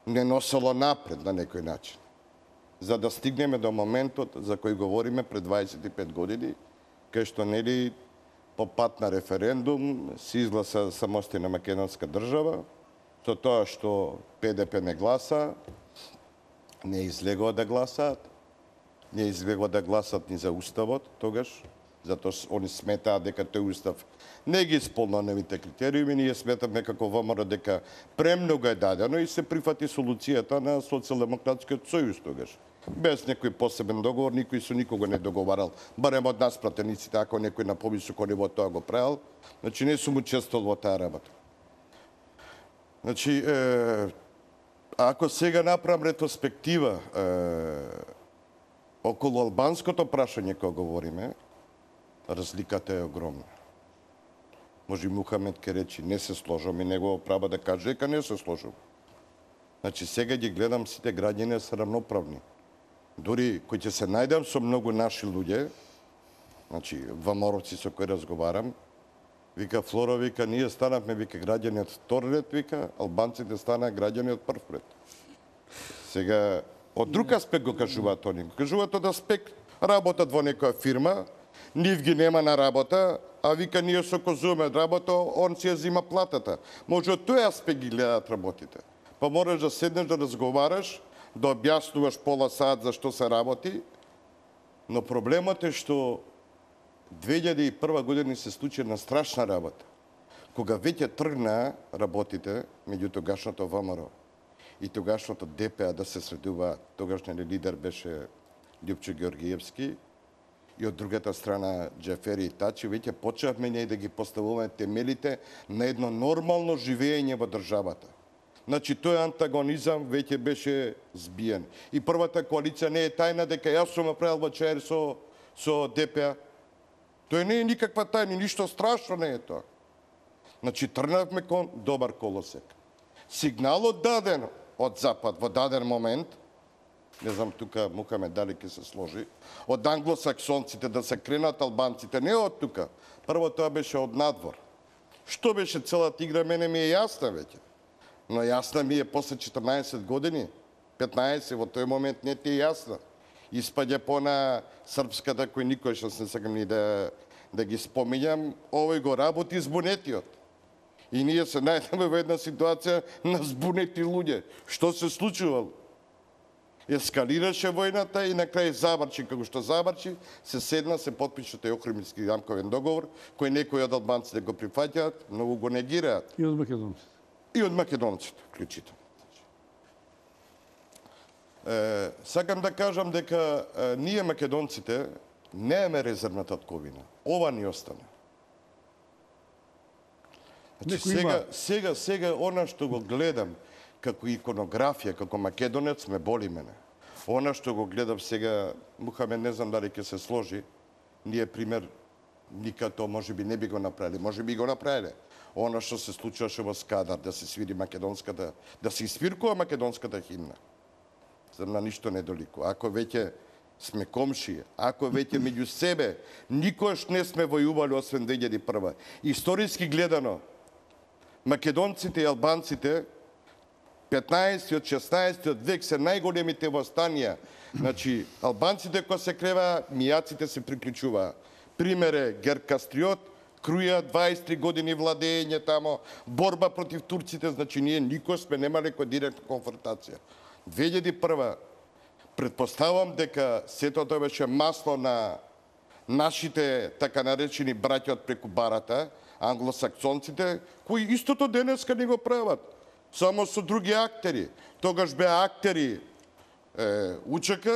не носело напред на некој начин. За да стигнеме до моментот за кој говориме пред дваесет и пет години, кај што нели по пат на референдум се изгласа самостојна македонска држава, со тоа што Пе Де Пе не гласа, не излегува да гласаат, не излегува да гласат ни за уставот тогаш, затоа они сметаат дека тој устав не ги исполнува невите критериуми, ние сметавме како ВМРО дека премногу е дадено и се прифати солуцијата на Социјалдемократскиот сојуз тогаш. Без некој посебен договор, никој со никого не договарал, барем од нас пратениците, ако некој на повисоко ниво тоа го правил, значи не сум учествувал во таа работа. Значи, е, ако сега направам ретроспектива е, околу албанското прашање кога говориме, разликата е огромна. Може Мухамед ке речи не се сложам и негово право да каже дека не се сложам. Значи сега ги гледам сите граѓани се рамноправни. Дори кој ќе се најдам со многу наши луѓе, значи ваморовци со кои разговарам, вика Флора, вика ние станавме вика граѓани од втор ред, вика албанците станаа граѓани од прв ред. Сега од друг аспект го кажуваат они. Го кажуваат од аспект работат во некоја фирма, нив ги нема на работа, а вика ние се окозуваме работа, он си ја зима платата. Може од тој аспект ги гледаат работите. Па мораш да седнеш да разговараш, да објаснуваш пола саат за што се работи, но проблемот е што две илјади и прва година се случи една страшна работа. Кога веќе тргнаа работите меѓу тогашното ВМРО и тогашното Де Пе А да се средува, тогашниот лидер беше Љупчо Ѓоргиевски, и од другата страна Џефери и Тачи, веќе почнавме ние да ги поставуваме темелите на едно нормално живење во државата. Значи, тој антагонизам веќе беше збиен. И првата коалиција не е тајна дека јас сум направил вачаер со, со Де Пе А. Тој не е никаква тајна, ништо страшно не е тоа. Значи, тргнавме кон добар колосек. Сигналот даден од Запад во даден момент, не знам тука Мухамед дали ќе се сложи, од англосаксонците да се кренат албанците, не од тука. Прво тоа беше од надвор. Што беше целата игра, мене ми е јасна веќе. Но јасна ми е после четрнаесет години, петнаесет, во тој момент не ти е јасна. Испаѓа по на српската, кој никој што не сакам ни да, да ги споминјам, овој го работи збунетиот. И ние се најдеме во една ситуација на збунети луѓе. Што се случувало? Ескалираше војната и на крај заврши како што заврши, се седна, се потпише тој Охримски рамковен договор, кој некои од албанците го прифаќаат, многу го негираат. И од македонците. И од македонците, вклучително. Е, сакам да кажам дека е, ние македонците немаме резервна татковина. Ова ни остана. Значи, сега, сега, сега, она што го гледам како иконографија, како македонец, ме боли мене. Она што го гледам сега, Мухамед, не знам дали ќе се сложи, ние, пример, никад тоа може би не би го направили, може би го направиле. Она што се случуваше во Скадар, да се свири македонската, да се испиркува македонската химна. Зам на ништо не доликува. Ако веќе сме комши, ако веќе меѓу себе, никош не сме војували освен две илјади и прва. Историски гледано, македонците и албанците петнаесеттиот, шеснаесеттиот век се најголемите востанија. Значи, албанците кога се креваа, мијаците се приклучуваа. Пример е Герк Кастриот, Круја, дваесет и три години владење тамо, борба против турците, значи ние никој сме немале кој директна конфронтација. две илјади и прва Предпоставам дека сето тоа беше масло на нашите така наречени браќа од преку барата, англосаксонците, кои истото денеска не го прават, само со други актери. Тогаш беа актери е, УЧК,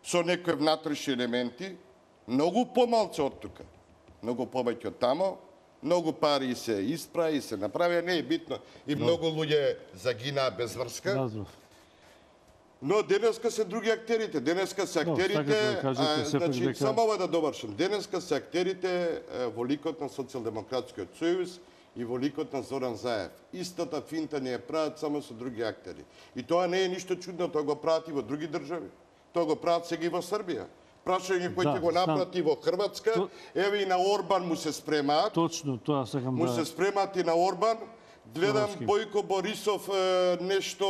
со некои внатрешни елементи, многу помалце од тука, многу повеќе од тамо, многу пари се испра и се направија, не е битно, и многу луѓе загинаа без врска. Разумев. Но денеска се други актерите. Денеска се актерите, да кажете, а, сепак значи, дека- само ова да довршам. Денеска се актерите е, во ликот на Социјалдемократскиот сојуз и во ликот на Зоран Заев. Истата финта не ја прават само со други актери. И тоа не е ништо чудно, тоа го прават и во други држави. Тоа го прават сега и во Србија. Прашање кој Да, ќе го знам. направи во Хрватска, То- еве и на Орбан му се спремаат. Точно тоа сакам Му да... се спремаат и на Орбан. Гледам Флоровски. Бојко Борисов е, нешто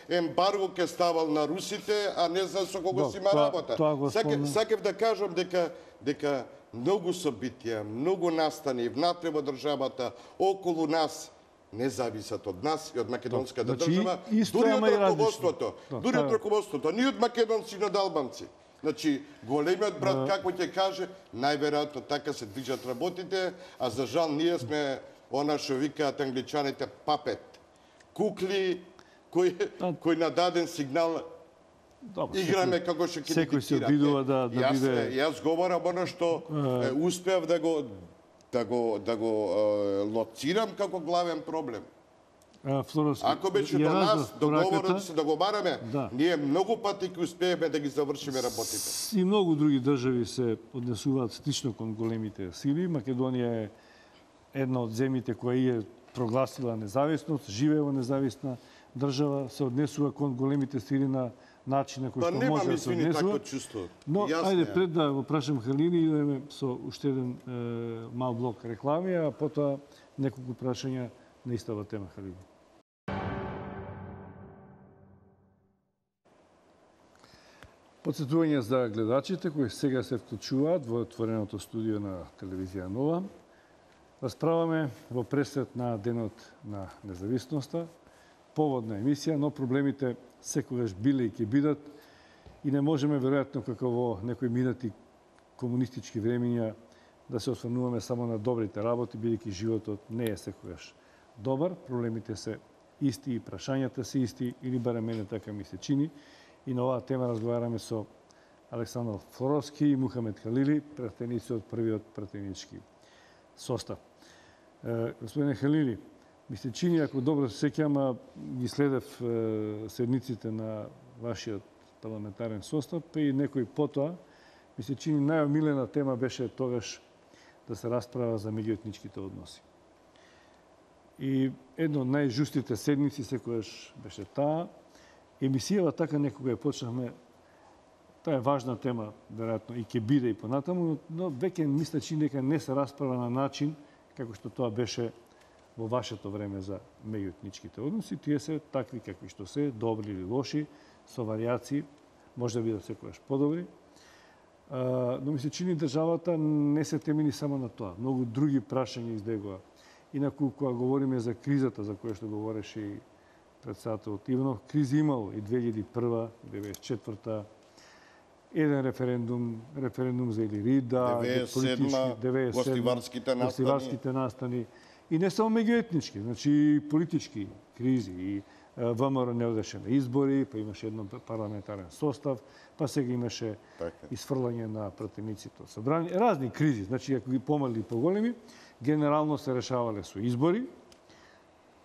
ембарго ке ставал на русите, а не знам со кого Да, си има тоа- работа. тоа го Сакев, спомнам. сакев да кажам дека дека многу собитија, многу настани внатре во државата, околу нас, не зависат од нас и од македонската Значи, држава, исто, дури од ама и различно. раководството, Да, дури тоа од е. раководството, ни од македонци, ни од албанци. Значи, големиот брат, како ќе каже, најверојатно така се движат работите, а за жал ние сме она што викаат англичаните папет. Кукли кои, А- кои на даден сигнал Добро, играме секој- како што ќе секој се обидува да- да јас, биде- Јас говорам оно што е, успеав да го да го да го е, лоцирам како главен проблем. А, Флоровски, Ако беше ја до нас разбрав договорот пораката. да се договараме, Да. ние многу пати ќе успееме да ги завршиме работите. И многу други држави се однесуваат слично кон големите сили. Македонија е една од земјите која е прогласила независност, живее во независна држава, се однесува кон големите сили на начин на кој Па што немам, може да се извини, однесува. такво чувство. Но, Јас ајде, немам. пред да го прашам Халини, идеме со уште еден е, мал блок реклами, а потоа неколку прашања на истава тема, Халини. Подсетување за гледачите кои сега се вклучуваат во отвореното студио на телевизија Нова. Расправаме во пресред на денот на независноста, поводна емисија, но проблемите секогаш биле и ќе бидат и не можеме веројатно како во некои минати комунистички времиња да се осврнуваме само на добрите работи, бидејќи животот не е секогаш добар, проблемите се исти и прашањата се исти, или барем мене така ми се чини. И на оваа тема разговараме со Александар Флоровски и Мухамед Халили, пратеници од првиот пратенички состав. Е, господине Халили, ми се чини, ако добро се сеќам, а ги следев е, седниците на вашиот парламентарен состав, па и некој потоа, ми се чини најомилена тема беше тогаш да се расправа за меѓуетничките односи. И едно од најжустите седници секојаш беше таа. Емисијава така некога ја почнахме, таа е важна тема, веројатно, и ќе биде и понатаму, но, но веќе мисля чини дека не се расправа на начин како што тоа беше во вашето време за меѓуетничките односи. Тие се такви какви што се, добри или лоши, со варијации, може да бидат секогаш подобри. А, но ми се чини државата не се темели само на тоа. Многу други прашања избегува. Инаку, кога говориме за кризата, за која што говореше и председателот Иванов, кризи имало и две илјади и прва, деветдесет и четврта, еден референдум, референдум за Илирида, деветдесет и седма, гостиварските настани. гостиварските настани. И не само меѓуетнички, значи и политички кризи. И ВМРО не одеше на избори, па имаше едно парламентарен состав, па сега имаше Така. исфрлање на пратениците од собрание. Разни кризи, значи ако ги помали и поголеми, генерално се решавале со избори.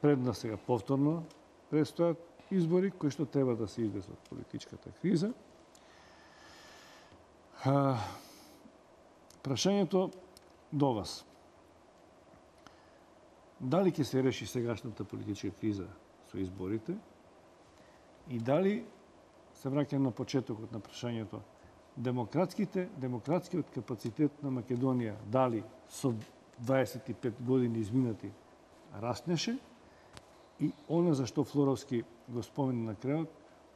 Пред нас сега повторно предстојат избори кои што треба да се излезе од политичката криза. А, прашањето до вас. Дали ќе се реши сегашната политичка криза со изборите и дали, се враќам на почетокот на прашањето, демократските, демократскиот капацитет на Македонија дали со дваесет и пет години изминати раснеше и она за што Флоровски го спомена на крајот,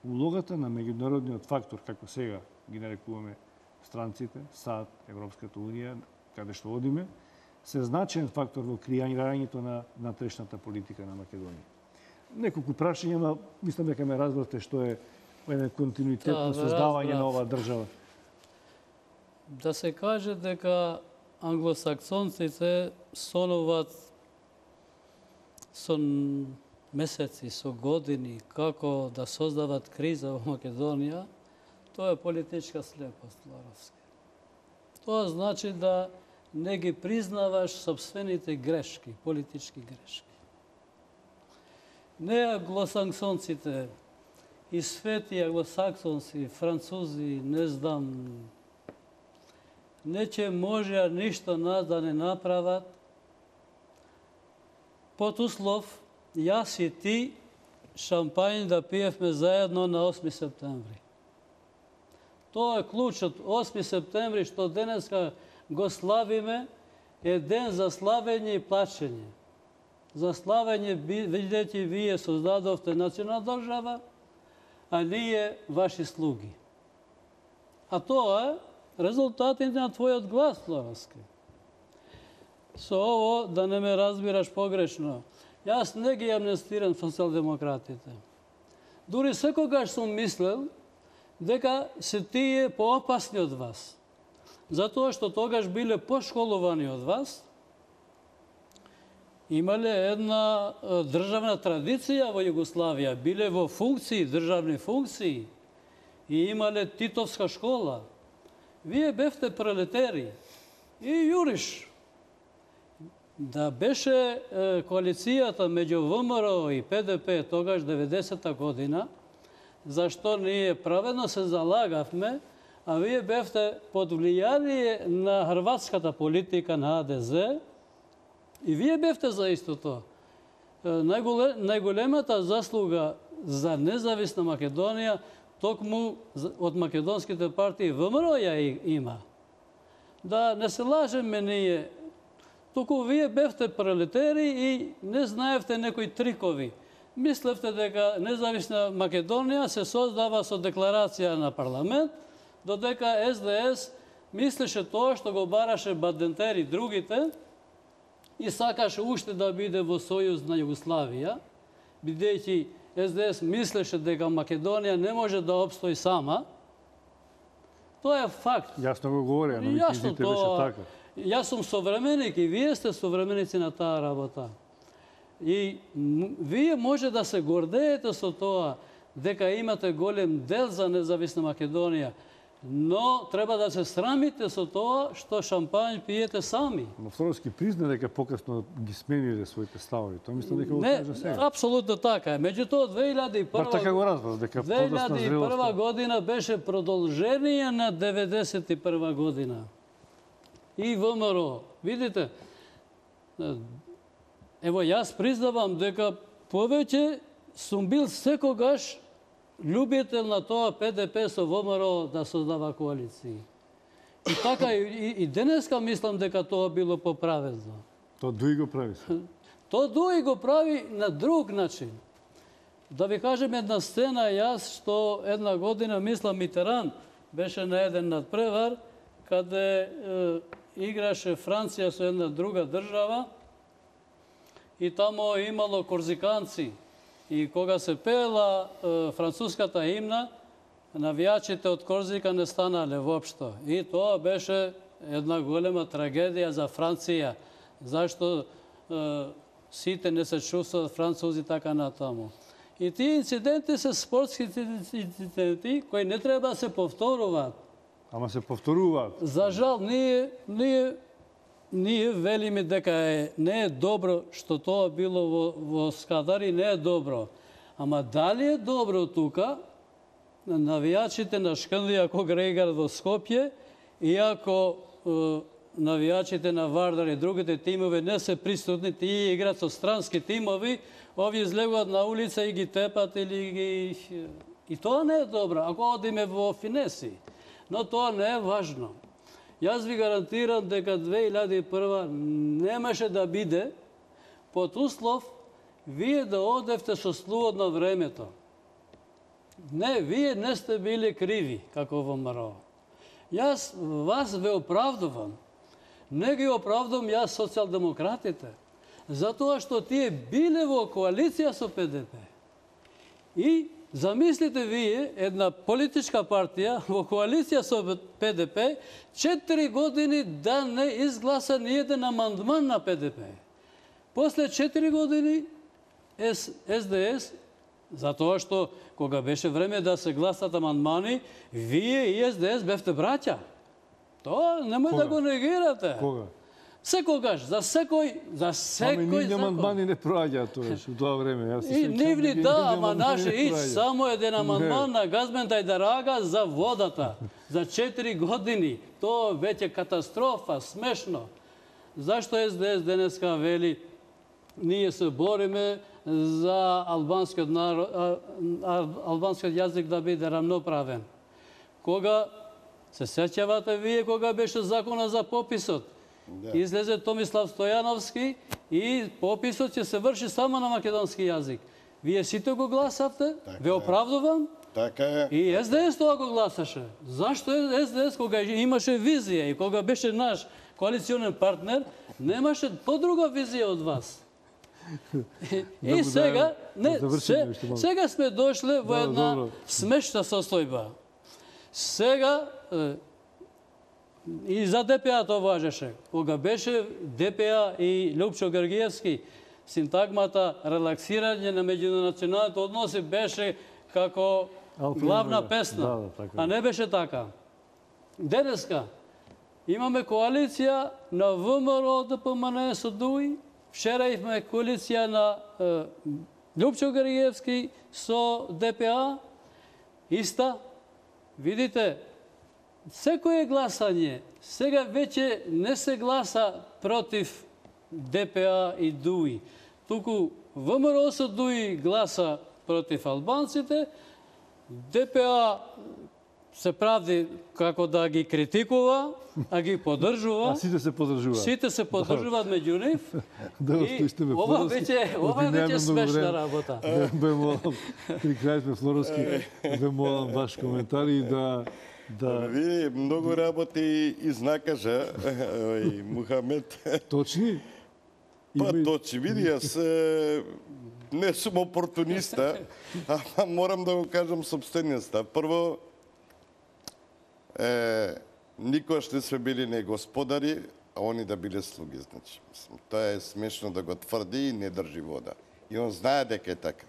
улогата на меѓународниот фактор, како сега ги нарекуваме странците, САД, Европската унија, каде што одиме, се значаен фактор во креирањето на натрешната политика на Македонија. Неколку прашања, но мислам дека ме разбравте што е еден континуитет Да, на создавање разбрав. на оваа држава. Да се каже дека англосаксонците сонуваат со месеци, со години, како да создават криза во Македонија, тоа е политичка слепост, Ларовски. Тоа значи да не ги признаваш собствените грешки, политички грешки. Не англосаксонците, и свети англосаксонци, французи, не знам, не че можеа ништо нас да не направат, под услов, јас и ти шампањ да пиевме заедно на осми септември. Тоа е клучот. осми септември, што денеска го славиме, е ден за славење и плачење. За славење, видите, вие создадовте национална држава, а ние ваши слуги. А тоа е резултатите на твојот глас, Ларовски. Со ово, да не ме разбираш погрешно, јас не ги амнестирам социјалдемократите. Дури секогаш сум мислел дека се тие поопасни од вас. Затоа што тогаш биле пошколувани од вас, имале една државна традиција во Југославија, биле во функции, државни функции и имале Титовска школа. Вие бевте пролетери и јуриш. Да беше е, коалицијата меѓу ВМРО и ПДП тогаш деветдесета година, зашто ние праведно се залагавме, а вие бевте под влијание на хрватската политика на А Д З и вие бевте за истото. Најголе, најголемата заслуга за независна Македонија токму од македонските партии ВМРО ја има. Да не се лажеме ние, туку вие бевте пролетери и не знаевте некои трикови. Мислевте дека независна Македонија се создава со декларација на парламент, додека С Д С мислеше тоа што го бараше Бадентер и другите и сакаше уште да биде во сојуз на Југославија, бидејќи С Д С мислеше дека Македонија не може да обстои сама. Тоа е факт. Јасно го говореа, но Јасно визите беше тоа. така. Јас сум современик и вие сте современици на таа работа. И вие може да се гордеете со тоа дека имате голем дел за независна Македонија, но треба да се срамите со тоа што шампањ пиете сами. Но Флоровски призна дека покасно ги смениле своите ставови. Тоа мислам дека го Не, кажа сега. апсолутно така е. Меѓутоа две илјади и прва Бар така го разбрав, дека две подосна илјади и прва зрелост. година беше продолжение на деветдесет и прва година. И ВМРО. Видите, ево јас признавам дека повеќе сум бил секогаш љубител на тоа П Д П со ВМРО да создава коалиции. И така и, и денеска мислам дека тоа било поправедно. Тоа дуи го прави. Тоа дуи го прави на друг начин. Да ви кажем една сцена, јас што една година, мислам, Митеран беше на еден надпревар, каде е, играше Франција со една друга држава и тамо имало корзиканци. И кога се пеела е, француската имна, навијачите од Корзика не станале воопшто. И тоа беше една голема трагедија за Франција, зашто е, сите не се чувствуваат французи така натаму. И тие инциденти се спортски инциденти кои не треба да се повторуваат. Ама се повторуваат. За жал, ние, ние, ние велиме дека е, не е добро што тоа било во, во Скадари, не е добро. Ама дали е добро тука, навијачите на Шкндија Когрегар во Скопје, иако е, навијачите на Вардар и другите тимови не се присутни, тие играат со странски тимови, овие излегуваат на улица и ги тепат или ги... И тоа не е добро, ако одиме во финеси. Но тоа не е важно. Јас ви гарантирам дека две илјади и прва немаше да биде под услов вие да одевте со слуот на времето. Не, вие не сте били криви, како во МРО. Јас вас ве оправдувам. Не ги оправдувам јас социјалдемократите, затоа што тие биле во коалиција со П Д П. И замислите вие една политичка партија во коалиција со Пе Де Пе четири години да не изгласа ниеден амандман на Пе Де Пе. После четири години Ес Де Ес, затоа што кога беше време да се гласат амандмани, вие и Ес Де Ес бевте браќа. Тоа немој да го негирате. Кога? Секогаш, за секој, за секој Ами нивни закон. амандмани не проаѓаат тогаш, у тоа време. Јас се И сеќавам нивни дека да, нивни ама амандмани наше не ич проаѓаат. само еден амандман Не. на Газмен Тајдарага за водата. За четири години. Тоа веќе катастрофа, смешно. Зашто Ес Де Ес денеска вели ние се бориме за албанскиот народ, а, а, албанскиот јазик да биде рамноправен. Кога се сеќавате вие кога беше закона за пописот? Да. Излезе Томислав Стојановски и пописот ќе се врши само на македонски јазик. Вие сите го гласавте? Така Ве е. оправдувам? Така е. И Ес Де Ес тоа го гласаше. Зашто Ес Де Ес кога имаше визија и кога беше наш коалиционен партнер, немаше подруга визија од вас. И, Да и го сега, дајам, не, да завршиме се, уште малку. сега сме дошле во Да, една добро. смешна состојба. Сега е, и за Де Пе А тоа важеше. Кога беше Де Пе А и Лјупчо Георгиевски, синтагмата релаксирање на меѓунационалните односи беше како Алфа главна Омега. песна, Да, да, така е. а не беше така. Денеска имаме коалиција на Вэ Ем Р О Д П М Н со Дуи, вчера имаме коалиција на е, Лјупчо Георгиевски со Де Пе А, иста. Видите, секое гласање, сега веќе не се гласа против Де Пе А и Дуи. Туку Вэ Ем Р О со Дуи гласа против албанците, Де Пе А се прави како да ги критикува, а ги поддржува. А сите се подржуваат. Сите се поддржуваат меѓу нив. Да, И остоите ме ова Флоровски. веќе ова Оти веќе немаме многу смешна време. работа. Ве- Ве молам, при крај сме Флоровски, ве молам ваш коментар и да да Види, многу работи изнакажа ој Мухамед. точни. Па Има и- точи, види, јас е, не сум опортуниста, ама морам да го кажам собствениот став. Прво, е, никош не сме били не господари, а они да биле слуги, значи. Мислам, тоа е смешно да го тврди и не држи вода. И он знае дека е така.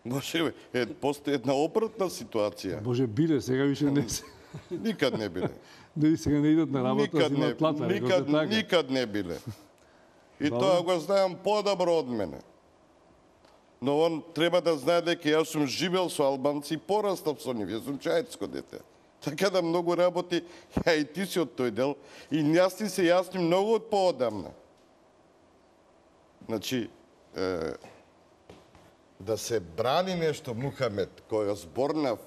Може, е, постои една обратна ситуација. Боже, биле, сега више не се. Никад не биле. Дали сега не идат на работа, Никад не, взимаат плата, рекол никад, се така. никад не биле. И Добро. тоа го знаем подобро од мене. Но он треба да знае дека јас сум живел со албанци и порастав со нив. Јас сум чајцко дете. Така да многу работи, ја и ти си од тој дел, и јас ти се јасни многу од поодамна. Значи, е, да се брани нешто, Мухамед, кој зборнав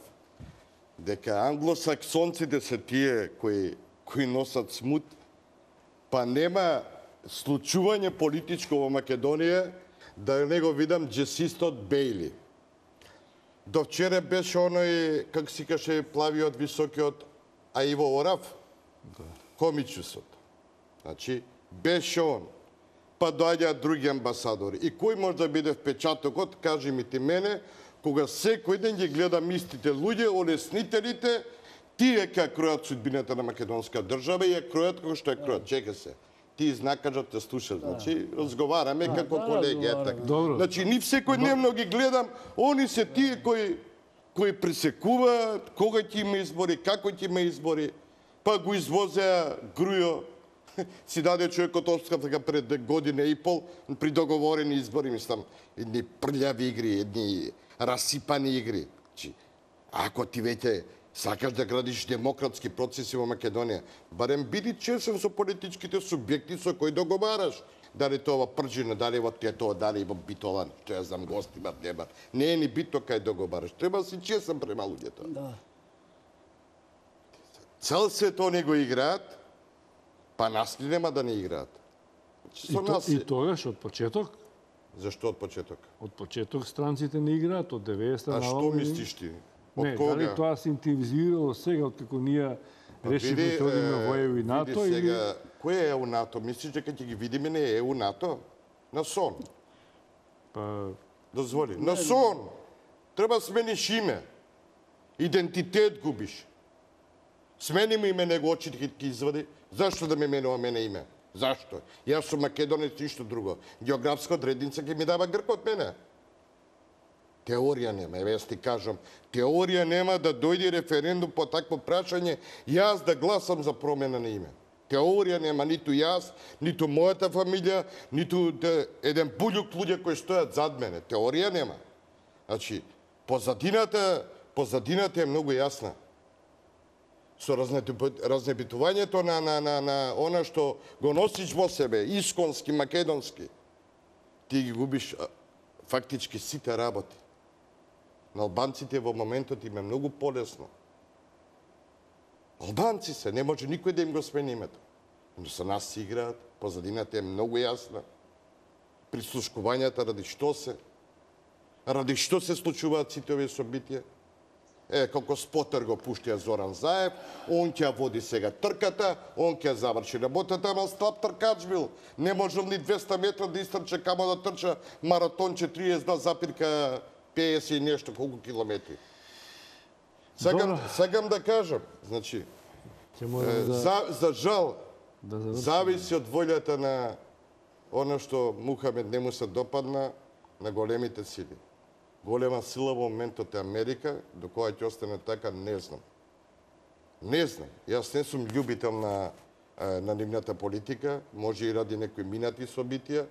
дека англосаксонците се тие кои, кои носат смут, па нема случување политичко во Македонија да не го видам джесистот Бејли. До вчера беше оној, как си каже, плавиот високиот Аиво Орав, комичусот. Значи, беше он. Па доаѓаат други амбасадори. И кој може да биде впечатокот, кажи ми ти мене, кога секој ден ги гледам истите луѓе, олеснителите, тие ка кројат судбината на македонска држава и ја кројат како што ја кројат. Чека се. Ти знакажат те слушаш, значи разговараме како да, колеги, е разговараме. така. Добро. Значи нив секојдневно ги гледам, они се тие кои кои пресекуваат кога ќе има избори, како ќе има избори, па го извозеа Грујо, си даде човекот оставка пред година и пол при договорени избори, мислам, едни прљави игри, едни расипани игри. Значи, ако ти веќе сакаш да градиш демократски процеси во Македонија, барем биди чесен со политичките субјекти со кои договараш. Дали тоа во Пржина, дали во тоа, дали во Битола, што ја знам, гости имат, нема. Не е ни битно кај договараш. Треба да си чесен према луѓето. Да. Цел свет они го играат, па нас ли нема да не играат? Значи, И, со то, нас и е. тогаш од почеток, Зашто од почеток? од почеток странците не играат од деветдесета А на што оваму не- мислиш ти? Од Не, кога? дали тоа се интензивирало сега, откако ние Па решивме види, да одиме во е, Е У и види НАТО, или... сега, кој е Е У НАТО? Мислиш дека ќе ги видиме не Е У НАТО? На сон. Па, Дозволи. На сон! Треба смениш име. Идентитет губиш. Смени му име, него очите ќе ти извади. Зашто да ме менува мене име? Зашто? Јас сум македонец, ништо друго. Географска одредница ќе ми дава Грк од мене. Теорија нема, еве јас ти кажам, теорија нема да дојде референдум по такво прашање, јас да гласам за промена на име. Теорија нема ниту јас, ниту мојата фамилија, ниту еден буљук луѓе кои стојат зад мене. Теорија нема. Значи, позадината, позадината е многу јасна. Со разнебитувањето на, на, на, на она што го носиш во себе, исконски, македонски, ти ги губиш фактички сите работи. На албанците во моментот им е многу полесно. Албанци се, не може никој да им го смени името. Но со нас си играат, позадината е многу јасна. Прислушкувањата ради што се, ради што се случуваат сите овие собитија. Е, како спотер го пуштија Зоран Заев, он ќе води сега трката, он ќе заврши работата, ама слаб тркач бил. Не можел ни двеста метра да истрче, камо да трча маратонче триесет два запирка петдесет и нешто, колку километри. Сакам, сакам да кажам, значи, е, да... за, за жал, да зависи од волјата на оно што Мухамед не му се допадна на големите сили. Голема сила во моментот е Америка, до која ќе остане така, не знам. Не знам. Јас не сум љубител на, на нивната политика, може и ради некои минати собитија.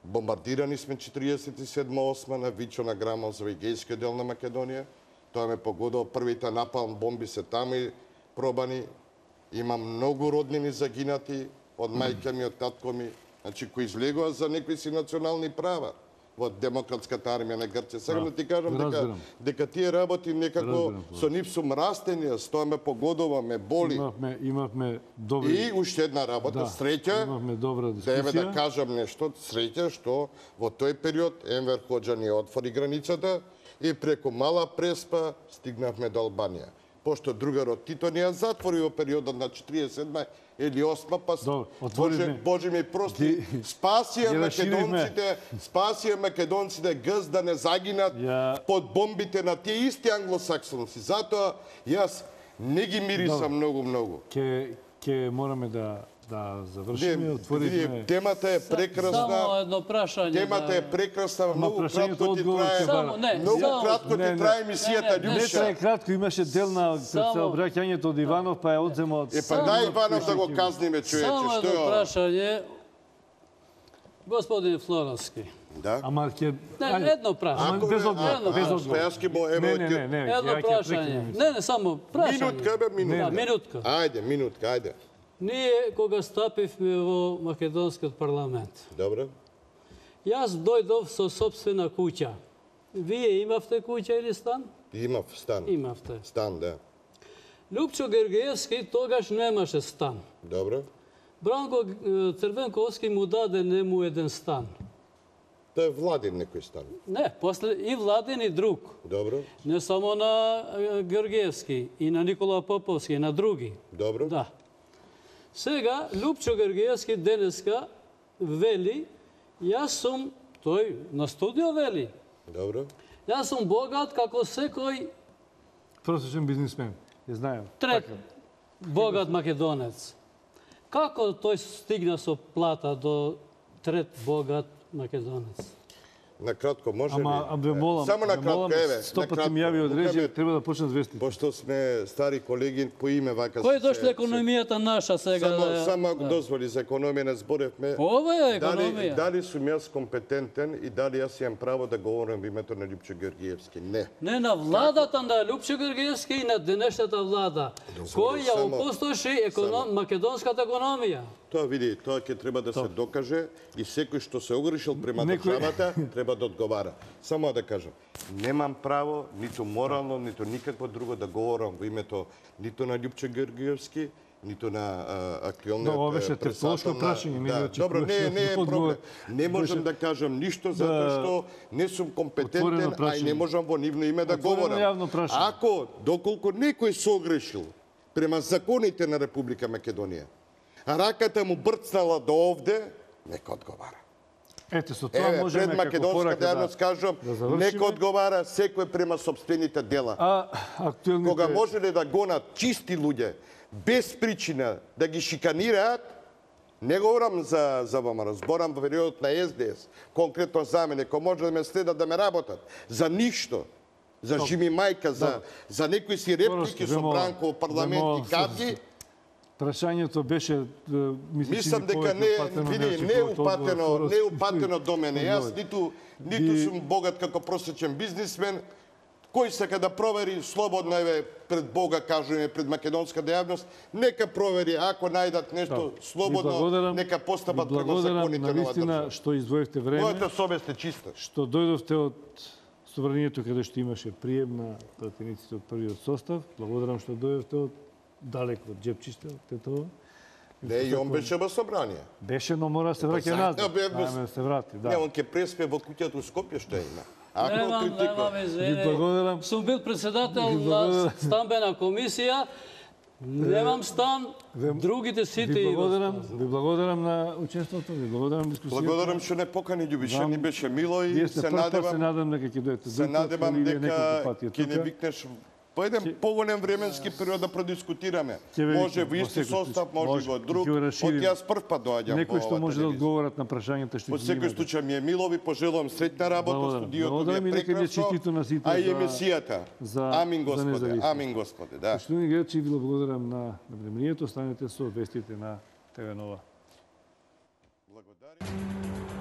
Бомбардирани сме четириесет и седма осма на Вичо на Грамон за егејскиот дел на Македонија. Тоа ме погодил, првите напалм бомби се таму и пробани. Има многу роднини загинати од мајка ми, од татко ми, значи кои излегува за некои си национални права во демократската армија на Грција. Сега да ти кажам дека, дека тие работи некако со нив сум растени, с тоа ме погодува, ме боли. Имавме, имавме добри... И уште една работа, да, среќа, имавме добра дискусија. Деве да кажам нешто, среќа што во тој период Енвер Хоџа ни отвори границата и преку Мала Преспа стигнавме до Албанија. Пошто другарот Тито ни ја затвори во периодот на четириесет и седма или осма, па Боже, Боже ми прости, спасија македонците, спасија македонците гз да не загинат ја... под бомбите на тие исти англосаксонци. Затоа јас не ги мирисам многу-многу. Ке, ке мораме да да завршиме, отворивме... Темата е прекрасна. Само едно прашање. Темата е прекрасна, многу кратко ти трае. Само, не, многу само, кратко ти трае емисијата, Љуша. Не трае кратко, имаше дел на обраќањето од Иванов, па ја одзема од... Е, па дај Иванов да го казниме, човече, само што е едно ова? прашање. Господин Флоровски. Да. Ама ќе... Не, едно прашање. Без одговор, без одговор. Јас ќе му, ево, Не, не, не, Едно ја ќе прашање. прекинем. Не, не, само прашање. Минутка, бе, минутка. Да, минутка. Ајде, минутка, ајде. Ние, кога стапивме во Македонскиот парламент, Добро. јас дојдов со собствена куќа. Вие имавте куќа или стан? Имав стан. Имавте. Стан, да. Лјупчо Гергиевски тогаш немаше стан. Добро. Бранко Црвенковски му даде нему еден стан. Тоа е Владин некој стан. Не, после и Владин и друг. Добро. Не само на Георгиевски, и на Никола Поповски, и на други. Добро. Да. Сега, Лјупчо Георгиевски денеска вели, јас сум, тој на студио вели, Добро. јас сум богат како секој Просечен бизнисмен, ја знаем. трет богат македонец. Како тој стигна со плата до трет богат македонец? На кратко, може ли? Ама, абе, молам, Само на кратко, еве. сто на пати ми јави од режија, Мухамед, треба да почнат вести. Пошто сме стари колеги по име вака Кој се- дошле економијата наша сега? Само, да- само да. дозволи за економија не зборевме. Ова е Дали, економија. дали сум јас компетентен и дали јас имам право да говорам во името на Лјупчо Георгиевски? Не. Не на владата на Лјупчо Георгиевски и на денешната влада, кој ја само- опустоши економ... македонската економија. Тоа види, тоа ќе треба да се докаже и секој што се огрешил према Некој- државата треба да одговара. Само да кажам, немам право, ниту морално, ниту никакво друго да говорам во името ниту на Лјупчо Георгиевски, ниту на а, актуелниот Но, ова беше председател тептолошко на- прашање, не да, да добро, не, очекуваш не е одговор. проблем. Не можам Беше- да кажам ништо затоа што не сум компетентен, Отворено а и не прашање. можам во нивно име да Отворено говорам. јавно прашање. Ако доколку некој се огрешил према законите на Република Македонија, раката му брцнала до овде, нека одговара. Ете, со тоа Еве, можеме пред како македонската порака јавност да, кажам, да завршиме. нека одговара секој према собствените дела. А актуелните... Кога можеле да гонат чисти луѓе, без причина да ги шиканираат, не говорам за, за ВМРО, зборам во периодот на Ес Де Ес, конкретно за мене, кој може да ме следат да ме работат, за ништо, за Жими Мајка, за, за некои си реплики со Бранко, парламент и кади. Прашањето беше, мислам дека не види не упатено, не упатено до мене. Јас ниту ниту сум богат како просечен бизнисмен. Кој сака да провери слободно, еве пред Бога кажуваме, пред македонската јавност, нека провери, ако најдат нешто слободно, нека постапат према законите на оваа држава. Што издвоевте време. Мојата совест е чиста. Што дојдовте од собранието каде што имаше прием на пратениците од првиот состав. Благодарам што дојдовте од далеко од Џепчиште, од Тетово. Не, и он беше во собрание. Беше, но мора да се враќа назад. Ајме да се врати, да. Не, он ќе преспе во куќата у Скопје што има. Ако Немам, критикува. немам, Ви извини. благодарам. Сум бил председател на стамбена комисија. Немам стан, другите сите Ви имат. благодарам, ви благодарам на учеството, ви благодарам дискусијата. Благодарам што не покани Љубиша, ни беше мило и Вие сте се прв пат, се надевам, надам дека ќе дојдете. се надевам дека ќе не тука. викнеш по еден поголем временски период да продискутираме. Ќе ве Може викнам, во во исти секој состав, случај. може Може, во друг. ќе го расширим. Од јас прв пат доаѓам Некој во што оваа може да телевизија. одговорат на прашањата што Во ги секој имате. случај ми е мило, ви пожелувам среќна работа, Благодарам. студиото ви Благодарам е и нека ви е прекрасно, честито на сите а и за- емисијата. за- Амин за Господе, независност. амин Господе, да. Поштовни гледачи, ви благодарам на на вниманието, останете со вестите на Те Ве Нова. Благодарам.